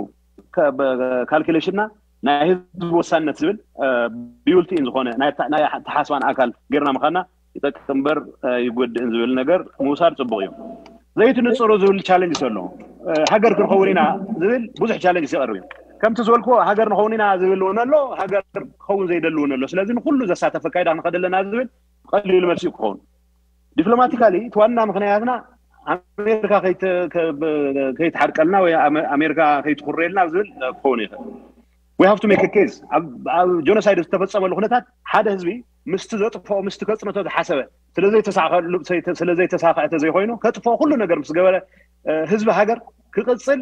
ካልኩሌሽንና ናይ ህዝቢ ወሳንነት ዝብል ቢውልቲን ዝኾነ ናይ ተሓስባን ኣካል ጌርና ምኻና ይጠቅም እምበር ይጎድእን ዝብል ነገር ምውሳድ ፅቡቅ እዩ። ዘይትንፅሩ ዝብል ቻለንጅ ኣሎ። ሃገር ክንኸውን ኢና ዝብል ብዙሕ ቻለንጅ ይቀርብ እዩ። ከምቲ ዝበልክዎ ሃገር ንኸውን ኢና ዝብል እውን ኣሎ፣ ሃገር ክኸውን ዘይደሊ እውን ኣሎ። ስለዚ ንኩሉ ዘሳተፈ ካይዳ ክንኸድ ኣለና ዝብል ቀሊሉ መልሲ ክኸውን ዲፕሎማቲካሊ እቲ ዋና ምክንያትና ኣሜሪካ ከይትሓርቀልና ወይ ኣሜሪካ ከይትኩረልና ዝብል ክኸውን ይኽእል። We have to make a case ኣብ ጆኖሳይድ ዝተፈፀመሉ ኩነታት ሓደ ህዝቢ ምስቲ ዘጥፍኦ ምስቲ ከፅንቶ ዝሓሰበ ስለዘይተሳኸሉ ስለዘይተሳኽዐ ተዘይኮይኑ ከጥፍኦ ኩሉ ነገር ምስ ገበረ ህዝቢ ሃገር ክቕፅል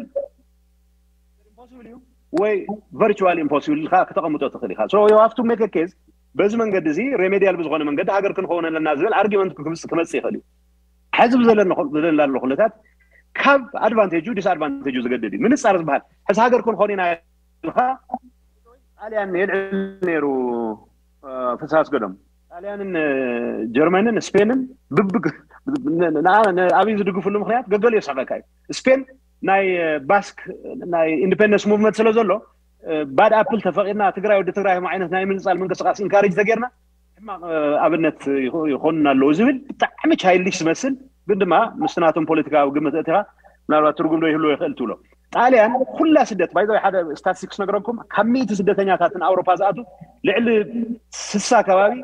ኢምፖሲብል እዩ ወይ ቨርቹዋል ኢምፖሲብል ኢልካ ክተቐምጦ ትኽእል ኢኻ። So you have to make a case በዚ መንገዲ እዚ ሬሜዲያል ብዝኾነ መንገዲ ሃገር ክንኸውን ኣለና ዝብል ኣርጊመንት ክመፅእ ይኽእል እዩ። ሕዚ ብዘለና ዘሎ ኩነታት ካብ ኣድቫንቴጁ ዲስኣድቫንቴጁ ዝገድድ እዩ። ምንፃር ዝበሃል ሕዚ ሃገር ክንኾን ኢና ኢልካ ጣልያን የልዕል ነይሩ። ፍስሃ ኣስገዶም ጣልያንን ጀርመንን ስፔንን ብብግ ንኣብይ ዝድግፍሉ ምክንያት ገገሉ የስሕቀካ እዩ። ስፔን ናይ ባስክ ናይ ኢንዲፔንደንስ ሙቭመንት ስለ ዘሎ ባድ ኣፕል ተፈቂድና ትግራይ ወዲ ትግራይ ከም ዓይነት ናይ ምንፃል ምንቅስቃስ ኢንካሬጅ ተጌርና ሕማቅ ኣብነት ይኾኑና ኣለዉ ዝብል ብጣዕሚ ቻይልዲሽ ዝመስል ግን ድማ ምስቲ ናቶም ፖለቲካዊ ግምት እቲኻ ምናልባት ትርጉም ዶ ይህልዎ ይኽእል ትብሎ። ጣልያን ኩላ ስደት ባይዘ ሓደ ስታቲስቲክስ ነግረኩም ካብ ሚእቲ ስደተኛታት ንኣውሮፓ ዝኣቱ ልዕሊ ስሳ ከባቢ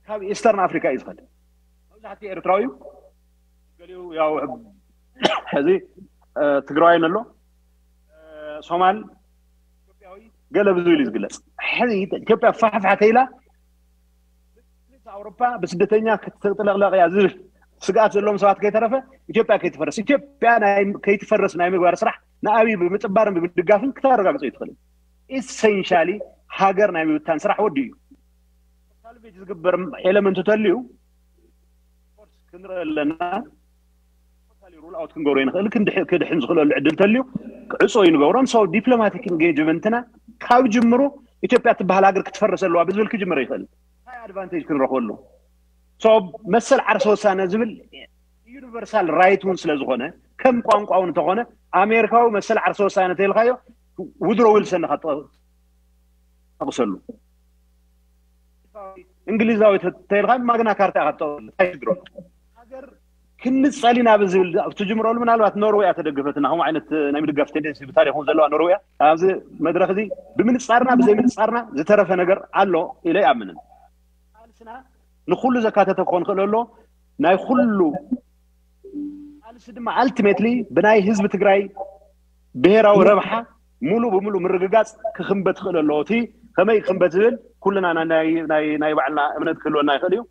ካብ ኢስተርን ኣፍሪካ እዩ ዝኸድ። መብዛሕትኡ ኤርትራዊ እዩ። ገሊኡ ያው ሕዚ ትግራዋይ ኣሎ፣ ሶማል፣ ኢትዮጵያዊ፣ ገለ ብዙ ኢሉ ዝግለፅ። ሕዚ ኢትዮጵያ ፋሕፋሕ ተይላ ኣውሮፓ ብስደተኛ ክትጥለቕለቕ እያ ዝብል ስግኣት ዘለዎም ሰባት ከይተረፈ ኢትዮጵያ ከይትፈርስ፣ ኢትዮጵያ ከይትፈርስ ናይ ምግባር ስራሕ ንኣብይ ብምጥባርን ብምድጋፍን ክተረጋግፆ ይትኽእል። ኢሰንሻሊ ሃገር ናይ ምብታን ስራሕ ወዲ እዩ። ሳልቬጅ ዝግበር ኤለመንት ተልዩ ክንርኢ ኣለና። ሩል ኣውት ክንገብሮ ይንኽእል፣ ክድሕን ዝኽእለሉ ዕድል ተልዩ ዕፁ ይንገብሮም። ሰው ዲፕሎማቲክ ኢንጌጅመንትና ካብ ጅምሩ ኢትዮጵያ ትበሃል ሃገር ክትፈርስ ኣለዋ ብዝብል ክጅምር ይኽእል። እንታይ ኣድቫንቴጅ ክንረኽበሉ? ሰው መሰል ዓርሰ ወሳነ ዝብል ዩኒቨርሳል ራይት እውን ስለ ዝኾነ ከም ቋንቋ እውን እንተኾነ ኣሜሪካዊ መሰል ዓርሰ ወሳነ ተልካዮ ውድሮ ዊልሰን ኢኻ ጠቕሰሉ። እንግሊዛዊ ተልካ ማግና ካርታ ኢኻ ጠቕሰሉ። እንታይ ሽግሮ ሃገር ክንፀል ኢና ብዝብል ኣብ ትጅምረሉ ምናልባት ኖርዌይ እያ ተደግፈትና። ከምኡ ዓይነት ናይ ምድጋፍ ቴንደንሲ ብታሪክ እውን ዘለዋ ኖርዌይ እያ። ኣብዚ መድረክ እዚ ብምንፃርና ብዘይምንፃርና ዝተረፈ ነገር ኣሎ ኢለ ይኣምንን። ቃልስና ንኩሉ ዘካተተ ክኾን ክእል ኣሎ። ናይ ኩሉ ቃልሲ ድማ ኣልቲሜትሊ ብናይ ህዝቢ ትግራይ ብሔራዊ ረብሓ ሙሉ ብሙሉ ምርግጋፅ ክክንበት ክእል ኣለዎ። እቲ ከመይ ክክንበት ዝብል ኩልና ናይ ባዕልና እምነት ክህልወና ይኽእል እዩ።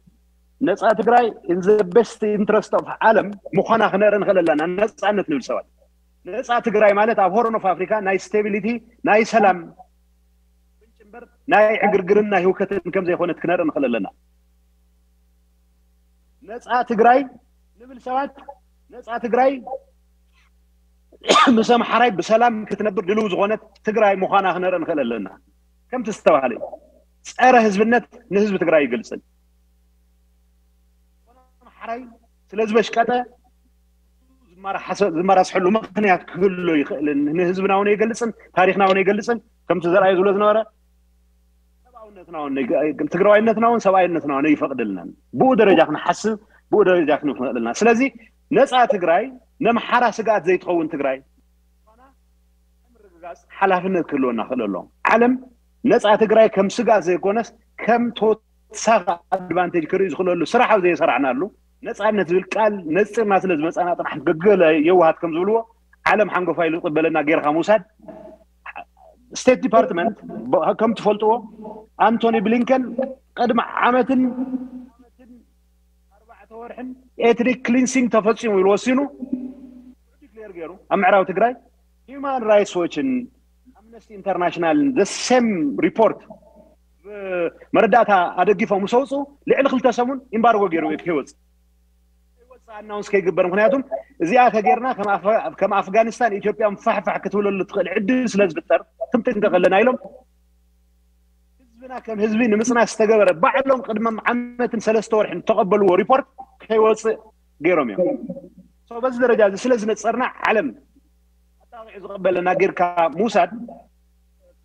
ነፃ ትግራይ in the best interest of ዓለም ምዃና ክነርኢ ንኽእል ኣለና። ነፃነት ንብል ሰባት ነፃ ትግራይ ማለት ኣብ ሆርን ኦፍ ኣፍሪካ ናይ ስቴቢሊቲ ናይ ሰላም ምንጭ እምበር ናይ ዕግርግርን ናይ ህውከትን ከም ዘይኮነት ክነርኢ ንኽእል ኣለና። ነፃ ትግራይ ንብል ሰባት ነፃ ትግራይ ምስ ኣምሓራይ ብሰላም ክትነብር ድልው ዝኾነት ትግራይ ምዃና ክነርኢ ንኽእል ኣለና። ከምቲ ዝተባሃለ እዩ። ፀረ ህዝብነት ንህዝቢ ትግራይ ይገልፅን ኣምሓራይ ስለ ዝበሽቀጠ ዝመራስሐሉ ምክንያት ክህሉ ይኽእልን ንህዝብና እውን ይገልፅን ታሪክና እውን ይገልፅን ከምቲ ዘርኣዩ ዝብሎ ዝነበረ ሰብኣውነትና እውን ትግራዋይነትና እውን ሰብኣይነትና እውን ይፈቅድልናን ብኡ ደረጃ ክንሓስብ ብኡ ደረጃ ክንኽእልና ስለዚ ነፃ ትግራይ ነምሓራ ስግኣት ዘይትኸውን ትግራይ ምርግጋፅ ሓላፍነት ክህልወና ክእል ኣሎ ዓለም ነፃ ትግራይ ከም ስግኣት ዘይኮነስ ከም ተወሳኺ ኣድቫንቴጅ ክርኢ ዝኽእለሉ ስራሕ ኣብ ዘይሰራሕናሉ ነፃነት ዝብል ቃል ነፂርና ስለ ዝመፃና ጥራሕ ገገለ የዋሃት ከም ዝብልዎ ዓለም ሓንጎፋ ኢሉ ዝቕበለና ጌርካ ምውሳድ ስቴት ዲፓርትመንት ከም ትፈልጥዎ ኣንቶኒ ብሊንከን ቅድሚ ዓመትን ኣርባዕተ ወርሕን ኤትኒክ ክሊንሲንግ ተፈፂሙ ኢሉ ወሲኑ ዲክሌር ገይሩ ኣብ ምዕራብ ትግራይ ሂማን ራይትስ ዎችን ኣምነስቲ ኢንተርናሽናልን the same report መረዳእታ ኣደጊፎም ምስ ኣውፅኡ ልዕሊ ክልተ ሰሙን ኢምባርጎ ገይሩ ከይወፅእ ኣናውንስ ከይግበር ምክንያቱም እዚኣ ተጌርና ከም ኣፍጋኒስታን ኢትዮጵያ ፋሕፋሕ ክትብለሉ ትኽእል ዕድል ስለ ዝፍጠር ክንጥንቀቅ ኣለና ኢሎም ህዝብና ከም ህዝቢ ንምፅናት ዝተገበረ ባዕሎም ቅድሚ ዓመትን ሰለስተ ወርሕን ዝተቐበልዎ ሪፖርት ከይወፅእ ገይሮም እዮም በዚ ደረጃ እዚ ስለ ዝነፀርና ዓለም ኣጣቂዑ ዝቐበለና ጌርካ ምውሳድ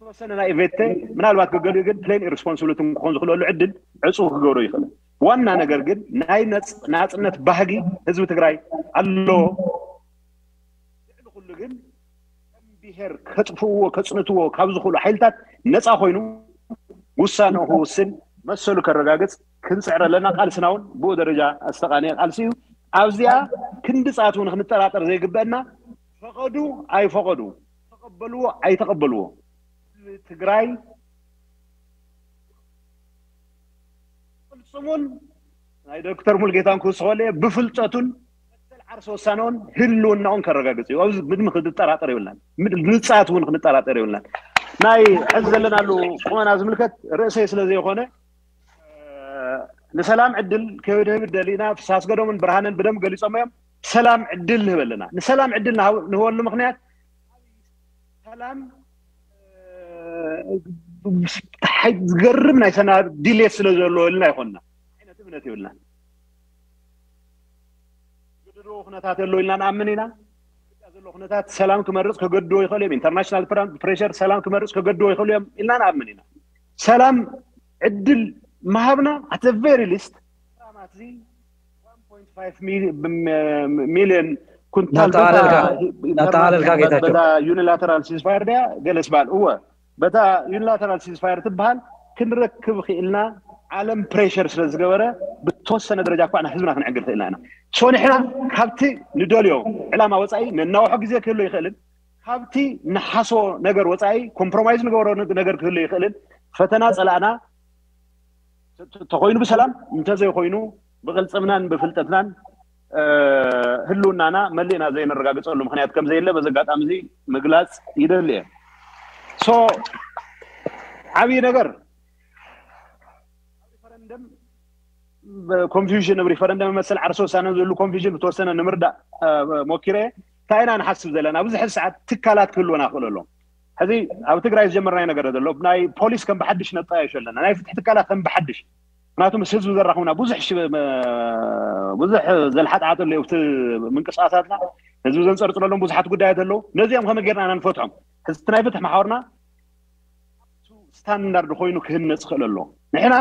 ተወሰነ ናይ ኢቨንት ምናልባት ገገሊኡ ግን ፕሌን ኢሬስፖንስብሊቲ ክኾን ዝኽእለሉ ዕድል ዕፁ ክገብሮ ይኽእል ዋና ነገር ግን ናይ ናፅነት ባህጊ ህዝቢ ትግራይ ኣለዎ ልዕሊ ኩሉ ግን ከም ብሄር ከጥፍእዎ ከፅንትዎ ካብ ዝኽእሉ ሓይልታት ነፃ ኮይኑ ውሳንኡ ክውስን መሰሉ ከረጋግፅ ክንፅዕር ኣለና ቃልስና እውን ብኡ ደረጃ ዝተቃነየ ቃልሲ እዩ ኣብዚኣ ክንዲ ፃት እውን ክንጠራጠር ዘይግበአና ፈቐዱ ኣይፈቐዱ ተቐበልዎ ኣይተቐበልዎ ትግራይ ቅልፅሙን ናይ ዶክተር ሙልጌታን ክውስኸሉ ብፍልጠቱን መሰል ዓርሰ ወሳነውን ህልውናውን ከረጋግፅ እዩ ኣብዚ ምንም ክንጠራጠር የብልናን ንፃት እውን ክንጠራጠር የብልናን ናይ ሕዚ ዘለናሉ ቁመና ዝምልከት ርእሰይ ስለ ዘይኮነ ንሰላም ዕድል ክህብድህብ ደሊና ፍሳስ ገዶምን ብርሃንን ብደም ገሊፆም እዮም ሰላም ዕድል ንህበለና ንሰላም ዕድል ንህበሉ ምክንያት ሰላም ዝገርም ናይ ሰና ዲሌት ስለ ዘለዎ ኢልና ይኮንና ዓይነት እምነት ይብልና ዝግድድዎ ኩነታት ኣሎ ኢልና ንኣምን ኢና ዘሎ ኩነታት ሰላም ክመርፅ ከገድዎ ይኽእል እዮም ኢንተርናሽናል ፕሬሸር ሰላም ክመርፅ ከገድዎ ይኽእል እዮም ኢልና ንኣምን ኢና ሰላም ዕድል ምሃብና ኣተ ቨሪ ሊስት ሚሊዮን ኩንታል ዩኒላተራል ሲዝፋየር ያ ገለስ በሃል እወ በታ ዩኒላተራል ሲዝፋየር ትበሃል ክንረክብ ክኢልና ዓለም ፕሬሸር ስለ ዝገበረ ብተወሰነ ደረጃ እኳ ህዝብና ክንዕግር ክእልና ኢና። ሶ ንሕና ካብቲ ንደልዮ ዕላማ ወፃኢ ነናውሖ ግዜ ክህሎ ይኽእልን ካብቲ ንሓስቦ ነገር ወፃኢ ኮምፕሮማይዝ ንገብሮ ነገር ክህሎ ይኽእልን ፈተና ፀላእና ተኮይኑ ብሰላም እንተዘይኮይኑ ብቅልፅምናን ብፍልጠትናን ህልውናና መሊእና ዘይነረጋግፀሉ ምክንያት ከም ዘየለ በዚ ኣጋጣሚ እዚ ምግላፅ ይደሊ እየ። ሶ ዓብዪ ነገር ሪፈረንደም ኮንፊውዥን ብ ሪፈረንደም መሰል ዓርሰ ውሳነ ዝህሉ ኮንፊውዥን ብተወሰነ ንምርዳእ ሞኪረ። እንታይ ኢና ንሓስብ ዘለና? ብዙሕ ሰዓት ትካላት ክህልወና ክእሉ ኣለዎም። ሕዚ ኣብ ትግራይ ዝጀመርናዮ ነገር ዘሎ ናይ ፖሊስ ከም ብሓድሽ ነጣየሾ ኣለና። ናይ ፍትሒ ትካላት ከም ብሓድሽ ምክንያቱ ምስ ህዝቢ ዘራኽቡና ብዙሕ ብዙሕ ዘልሓጥሓጥ ኣሎ ኣብቲ ምንቅስቃሳትና ህዝቢ ዘንፀርፅረሎም ብዙሓት ጉዳያት ኣለዉ። ነዚኦም ከመይ ጌርና ኢና ንፈትሖም? ሕዚ ናይ ፍትሒ መሓወርና ስታንዳርድ ኮይኑ ክህነፅ ክእል ኣሎ። ንሕና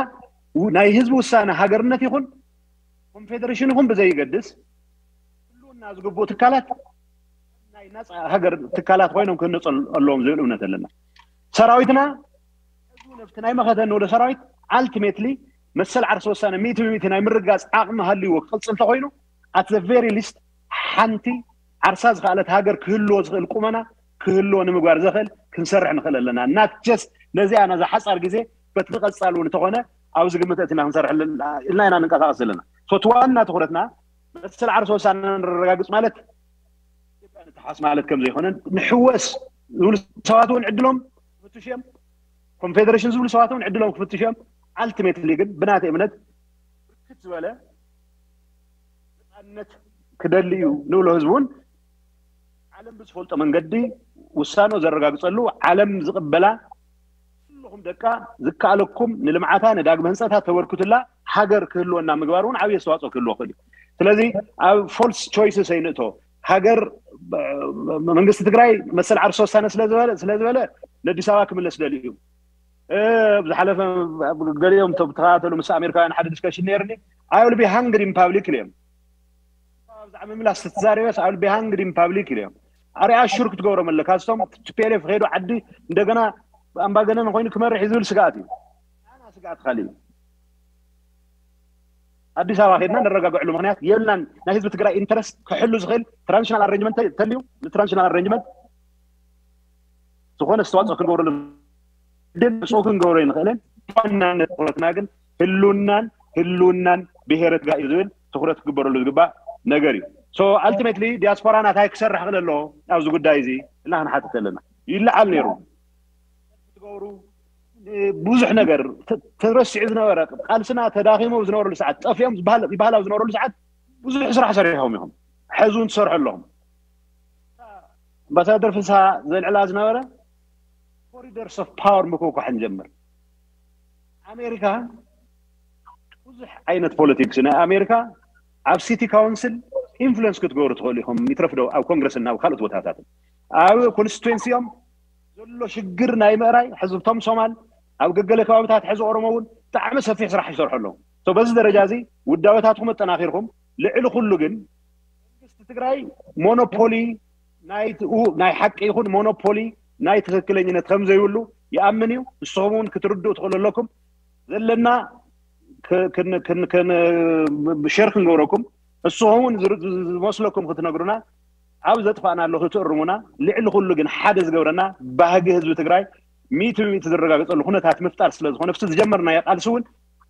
ናይ ህዝቢ ውሳነ ሃገርነት ይኹን ኮንፌደሬሽን ይኹን ብዘይገድስ ህልውና ዝግብኡ ትካላት ናይ ናፃ ሃገር ትካላት ኮይኖም ክህነፁ ኣለዎም ዝብል እምነት ኣለና። ሰራዊትና ነብቲ ናይ መኸተ ንወደ ሰራዊት ኣልቲሜትሊ መሰል ዓርሰ ወሳነ ሚእቲ ብሚእቲ ናይ ምርጋፅ ዓቕሚ ሃልይዎ ክቕፅል ተኮይኑ ኣት ቨሪ ሊስት ሓንቲ ዓርሳ ዝኸኣለት ሃገር ክህልዎ ዝኽእል ቁመና ክህልዎ ንምግባር ዘኽእል ክንሰርሕ ንኽእል ኣለና። ናት ጀስት ነዚኣ ነዛ ሓፃር ግዜ በቲ ቀፃል እውን እንተኾነ ኣብዚ ግምት እትና ክንሰርሕ ኢልና ኢና ንንቀሳቀስ ዘለና። እቲ ዋና ትኩረትና መሰል ዓርሰ ወሳነ ንረጋግፅ ማለት ኢትዮጵያ ንተሓስ ማለት ከም ዘይኮነን ንሕወስ ዝብሉ ሰባት እውን ዕድሎም ክፍትሹ እዮም። ኮንፌደሬሽን ዝብሉ ሰባት እውን ዕድሎም ክፍትሹ እዮም። ኣልቲሜትሊ ግን ብናተይ እምነት ብርክት ዝበለ ነፃነት ክደሊ እዩ ንብሎ ህዝቢ እውን ዓለም ብዝፈልጦ መንገዲ ውሳኖ ዘረጋግፀሉ ዓለም ዝቕበላ ኩልኹም ደቃ ዝከኣለኩም ንልምዓታ ንዳግመ ህንፀታ ተበርክቱላ ሃገር ክህልወና ምግባር እውን ዓብዪ ኣስተዋፅኦ ክህልዎ ክእል እዩ። ስለዚ ኣብ ፎልስ ቾይስስ ኣይንእቶ። ሃገር መንግስቲ ትግራይ መሰል ዓርሰ ወሳነ ስለዝበለ ስለዝበለ ንኣዲስ ኣበባ ክምለስ ደልዩ እዩ። ዝሓለፈ ገሊኦም ተከታተሉ ምስ ኣሜሪካውያን ሓደ ዲስከሽን ነይርኒ። I will be hungry in public ኢለ እዮም። ብዛዕባ ምምላስ ተዛሪበስ I will be hungry in public ኢለ እዮም። ኣርያ ሹር ክትገብሮም ኣለካ። እቶም ቲፒኤልኤፍ ከይዱ ዓዲ እንደገና ኣምባገነን ኮይኑ ክመርሕ እዩ ዝብል ስግኣት እዩ። ኣና ስግኣት ካሊእ እዩ። ኣዲስ ኣበባ ከድና ነረጋግዕሉ ምክንያት የብልናን። ናይ ህዝቢ ትግራይ ኢንተረስት ክሕሉ ዝኽእል ትራንዚሽናል ኣሬንጅመንት ተልዩ ንትራንዚሽናል ኣሬንጅመንት ዝኾነ ኣስተዋፅኦ ክንገብረሉ ግን ፅኡ ክንገብሮ ይንኽእልን ዋናነት ትኩረትና ግን ህልውናን ህልውናን ብሄረ ትግራይ እዩ ዝብል ትኩረት ክግበረሉ ዝግባእ ነገር እዩ። ሶ ኣልቲሜትሊ ዲያስፖራ ናታይ ክሰርሕ ክእል ኣለዎ ኣብዚ ጉዳይ እዚ እና ክንሓትት ኣለና። ይለዓል ነይሩ ትገብሩ ብዙሕ ነገር ተረሲዑ ዝነበረ ቃልስና ተዳኺሙ ዝነበረሉ ሰዓት ጠፊኦም ይባህላዊ ዝነበረሉ ሰዓት ብዙሕ ስራሕ ሰሪሖም ኢኹም። ሕዚ እውን ትሰርሑ ኣለኹም። ኣምባሳደር ፍስሃ ዘልዕላ ዝነበረ ኮሪደርስ ኦፍ ፓወር ምክውኳሕ ንጀምር። ኣሜሪካ ብዙሕ ዓይነት ፖለቲክስ ናይ ኣሜሪካ ኣብ ሲቲ ካውንስል ኢንፍሉንስ ክትገብሩ ትኽእሉ ኢኹም። ይትረፍዶ ኣብ ኮንግረስን ኣብ ካልኦት ቦታታትን ኣብ ኮንስቲትዌንሲኦም ዘሎ ሽግር ናይ ምእራይ ሕዚ እቶም ሶማል ኣብ ገገለ ከባብታት ሕዚ ኦሮሞ እውን ብጣዕሚ ሰፊሕ ስራሕ ይሰርሑ ኣለዉ። በዚ ደረጃ እዚ ውዳበታትኩም ኣጠናኺርኩም ልዕሊ ኩሉ ግን መንግስቲ ትግራይ ሞኖፖሊ ናይ ሓቂ ይኹን ሞኖፖሊ ናይ ትክክለኝነት ከም ዘይብሉ ይኣምን እዩ። ንስኹም እውን ክትርድኡ ትኽእሉ ኣለኩም። ዘለና ሸር ክንገብረኩም ንስኹም እውን ዝመስለኩም ክትነግሩና ኣብ ዘጥፋእና ኣለኹ ትእርሙና። ልዕሊ ኩሉ ግን ሓደ ዝገብረና ባህጊ ህዝቢ ትግራይ ሚእቲ ብሚእቲ ዝረጋገፀሉ ኩነታት ምፍጣር ስለዝኾነ ብቲ ዝጀመርናዮ ቃልሲ እውን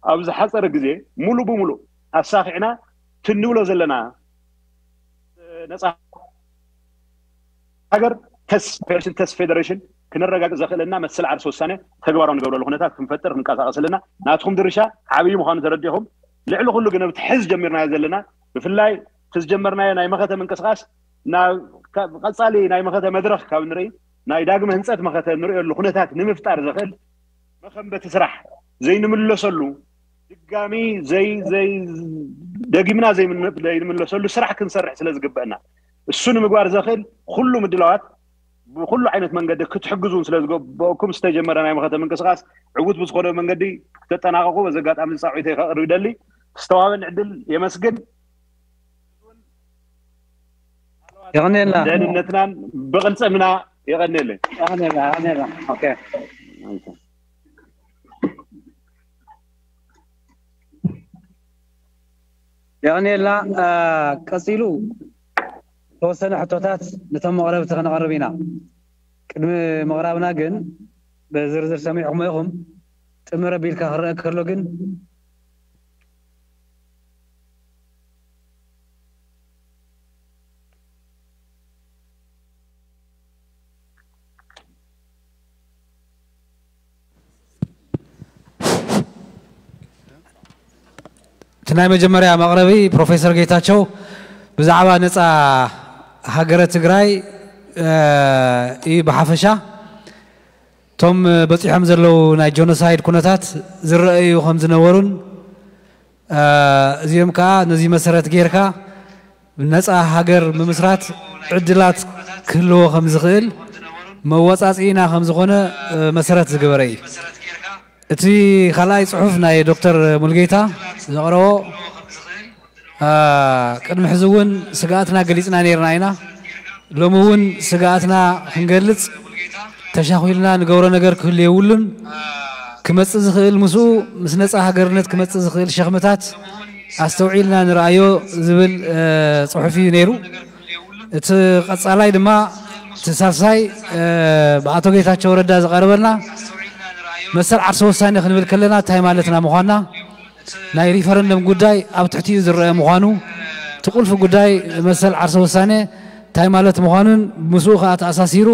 ኣብ ዝሓፀረ ግዜ ሙሉ ብሙሉ ኣሳኺዕና ትንብሎ ዘለና ነፃ ሃገር ተስ ፌደሬሽን ተስ ፌደሬሽን ክነረጋግፅ ዘኽእለና መሰል ዓርሲ ውሳነ ተግባራዊ ንገብረሉ ኩነታት ክንፈጥር ክንቀሳቀስ ኣለና። ናትኩም ድርሻ ዓብዪ ምዃኑ ተረዲኹም ልዕሊ ኩሉ ግን ኣብቲ ሕዚ ጀሚርናዮ ዘለና ብፍላይ እቲ ዝጀመርናዮ ናይ መኸተ ምንቅስቃስ ናብ ቀፃሊ ናይ መኸተ መድረክ ካብ ንርኢ ናይ ዳግመ ህንፀት መኸተ ንሪኦሉ ኩነታት ንምፍጣር ዘኽእል መኸንበቲ ስራሕ ዘይንምለሰሉ ድጋሚ ዘይ ዘይ ደጊምና ዘይምለሰሉ ስራሕ ክንሰርሕ ስለ ዝግበአና እሱ ንምግባር ዘኽእል ኩሉ ምድላዋት ብኩሉ ዓይነት መንገዲ ክትሕግዙን ስለ ዝግበእኩም ዝተጀመረ ናይ መኸተ ምንቅስቃስ ዕውት ብዝኾነ መንገዲ ክተጠናቀቁ በዚ ኣጋጣሚ ፃውዒተይ ከቅርብ ይደሊ። ዝተዋበን ዕድል የመስግን። የቐንየልና። ደህንነትናን ብቅልፅምና የቐንየለይ። የቐንየልና፣ የቐንየልና። ኦኬ። የቐንየልና። ቀጺሉ ተወሰነ ሕቶታት ነቶም መቕረብቲ ከነቐርብ ኢና። ቅድሚ ምቕራብና ግን ብዝርዝር ሰሚዕኹሞ ኢኹም። ጥምር ኣቢልካ ክረአ ከሎ ግን እቲ ናይ መጀመርያ መቕረቢ ፕሮፌሰር ጌታቸው ብዛዕባ ነፃ ሃገረ ትግራይ እዩ። ብሓፈሻ እቶም በፂሖም ዘለዉ ናይ ጆኖሳይድ ኩነታት ዝረኣዩ ከም ዝነበሩን እዚኦም ከዓ ነዚ መሰረት ጌርካ ነፃ ሃገር ምምስራት ዕድላት ክህልዎ ከም ዝኽእል መወፃፅኢና ከም ዝኾነ መሰረት ዝገበረ እዩ። እቲ ካልኣይ ፅሑፍ ናይ ዶክተር ሙልጌታ ዘቕረቦ ቅድሚ ሕዚ እውን ስግኣትና ገሊፅና ነይርና ኢና። ሎሚ እውን ስግኣትና ክንገልፅ ተሻኺልና ንገብሮ ነገር ክህሉ የብሉን። ክመፅእ ዝኽእል ምስኡ ምስ ነፃ ሃገርነት ክመፅእ ዝኽእል ሸኽምታት ኣስተውዒልና ንርኣዮ ዝብል ፅሑፍ እዩ ነይሩ። እቲ ቀፃላይ ድማ እቲ ሳልሳይ ብኣቶ ጌታቸው ረዳ ዝቐረበልና መሰል ዓርሰ ውሳኔ ክንብል ከለና እንታይ ማለትና ምዃንና ናይ ሪፈረንደም ጉዳይ ኣብ ትሕቲኡ ዝረአ ምዃኑ፣ እቲ ቁልፊ ጉዳይ መሰል ዓርሰ ውሳኔ እንታይ ማለት ምዃኑን ምስኡ ከዓ ተኣሳሲሩ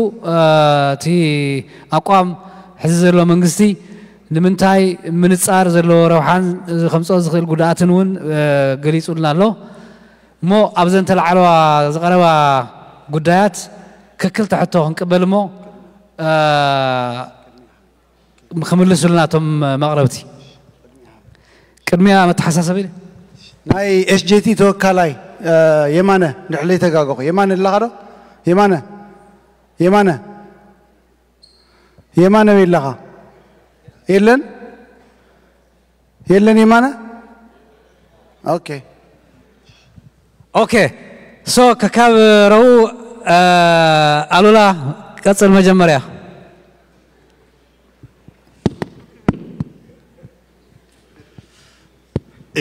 እቲ ኣቋም ሕዚ ዘሎ መንግስቲ ንምንታይ ምንፃር ዘለዎ ረብሓን ከምፅኦ ዝኽእል ጉድኣትን እውን ገሊፁልና ኣሎ። እሞ ኣብዘን ተላዓለዋ ዝቐረባ ጉዳያት ክክልተ ሕቶ ክንቅበል እሞ ክምልሱልና እቶም መቕረብቲ። ቅድሚያ መተሓሳሰቢ ናይ ኤስጄቲ ተወካላይ የማነ፣ ድሕለይ ተጋገኹ። የማነ ኣለኻ ዶ? የማነ፣ የማነ፣ የማነ በይ ኣለኻ? የለን፣ የለን የማነ። ኦኬ፣ ኦኬ። ሶ ከካብ ረቡ ኣሉላ ቀጽል። መጀመርያ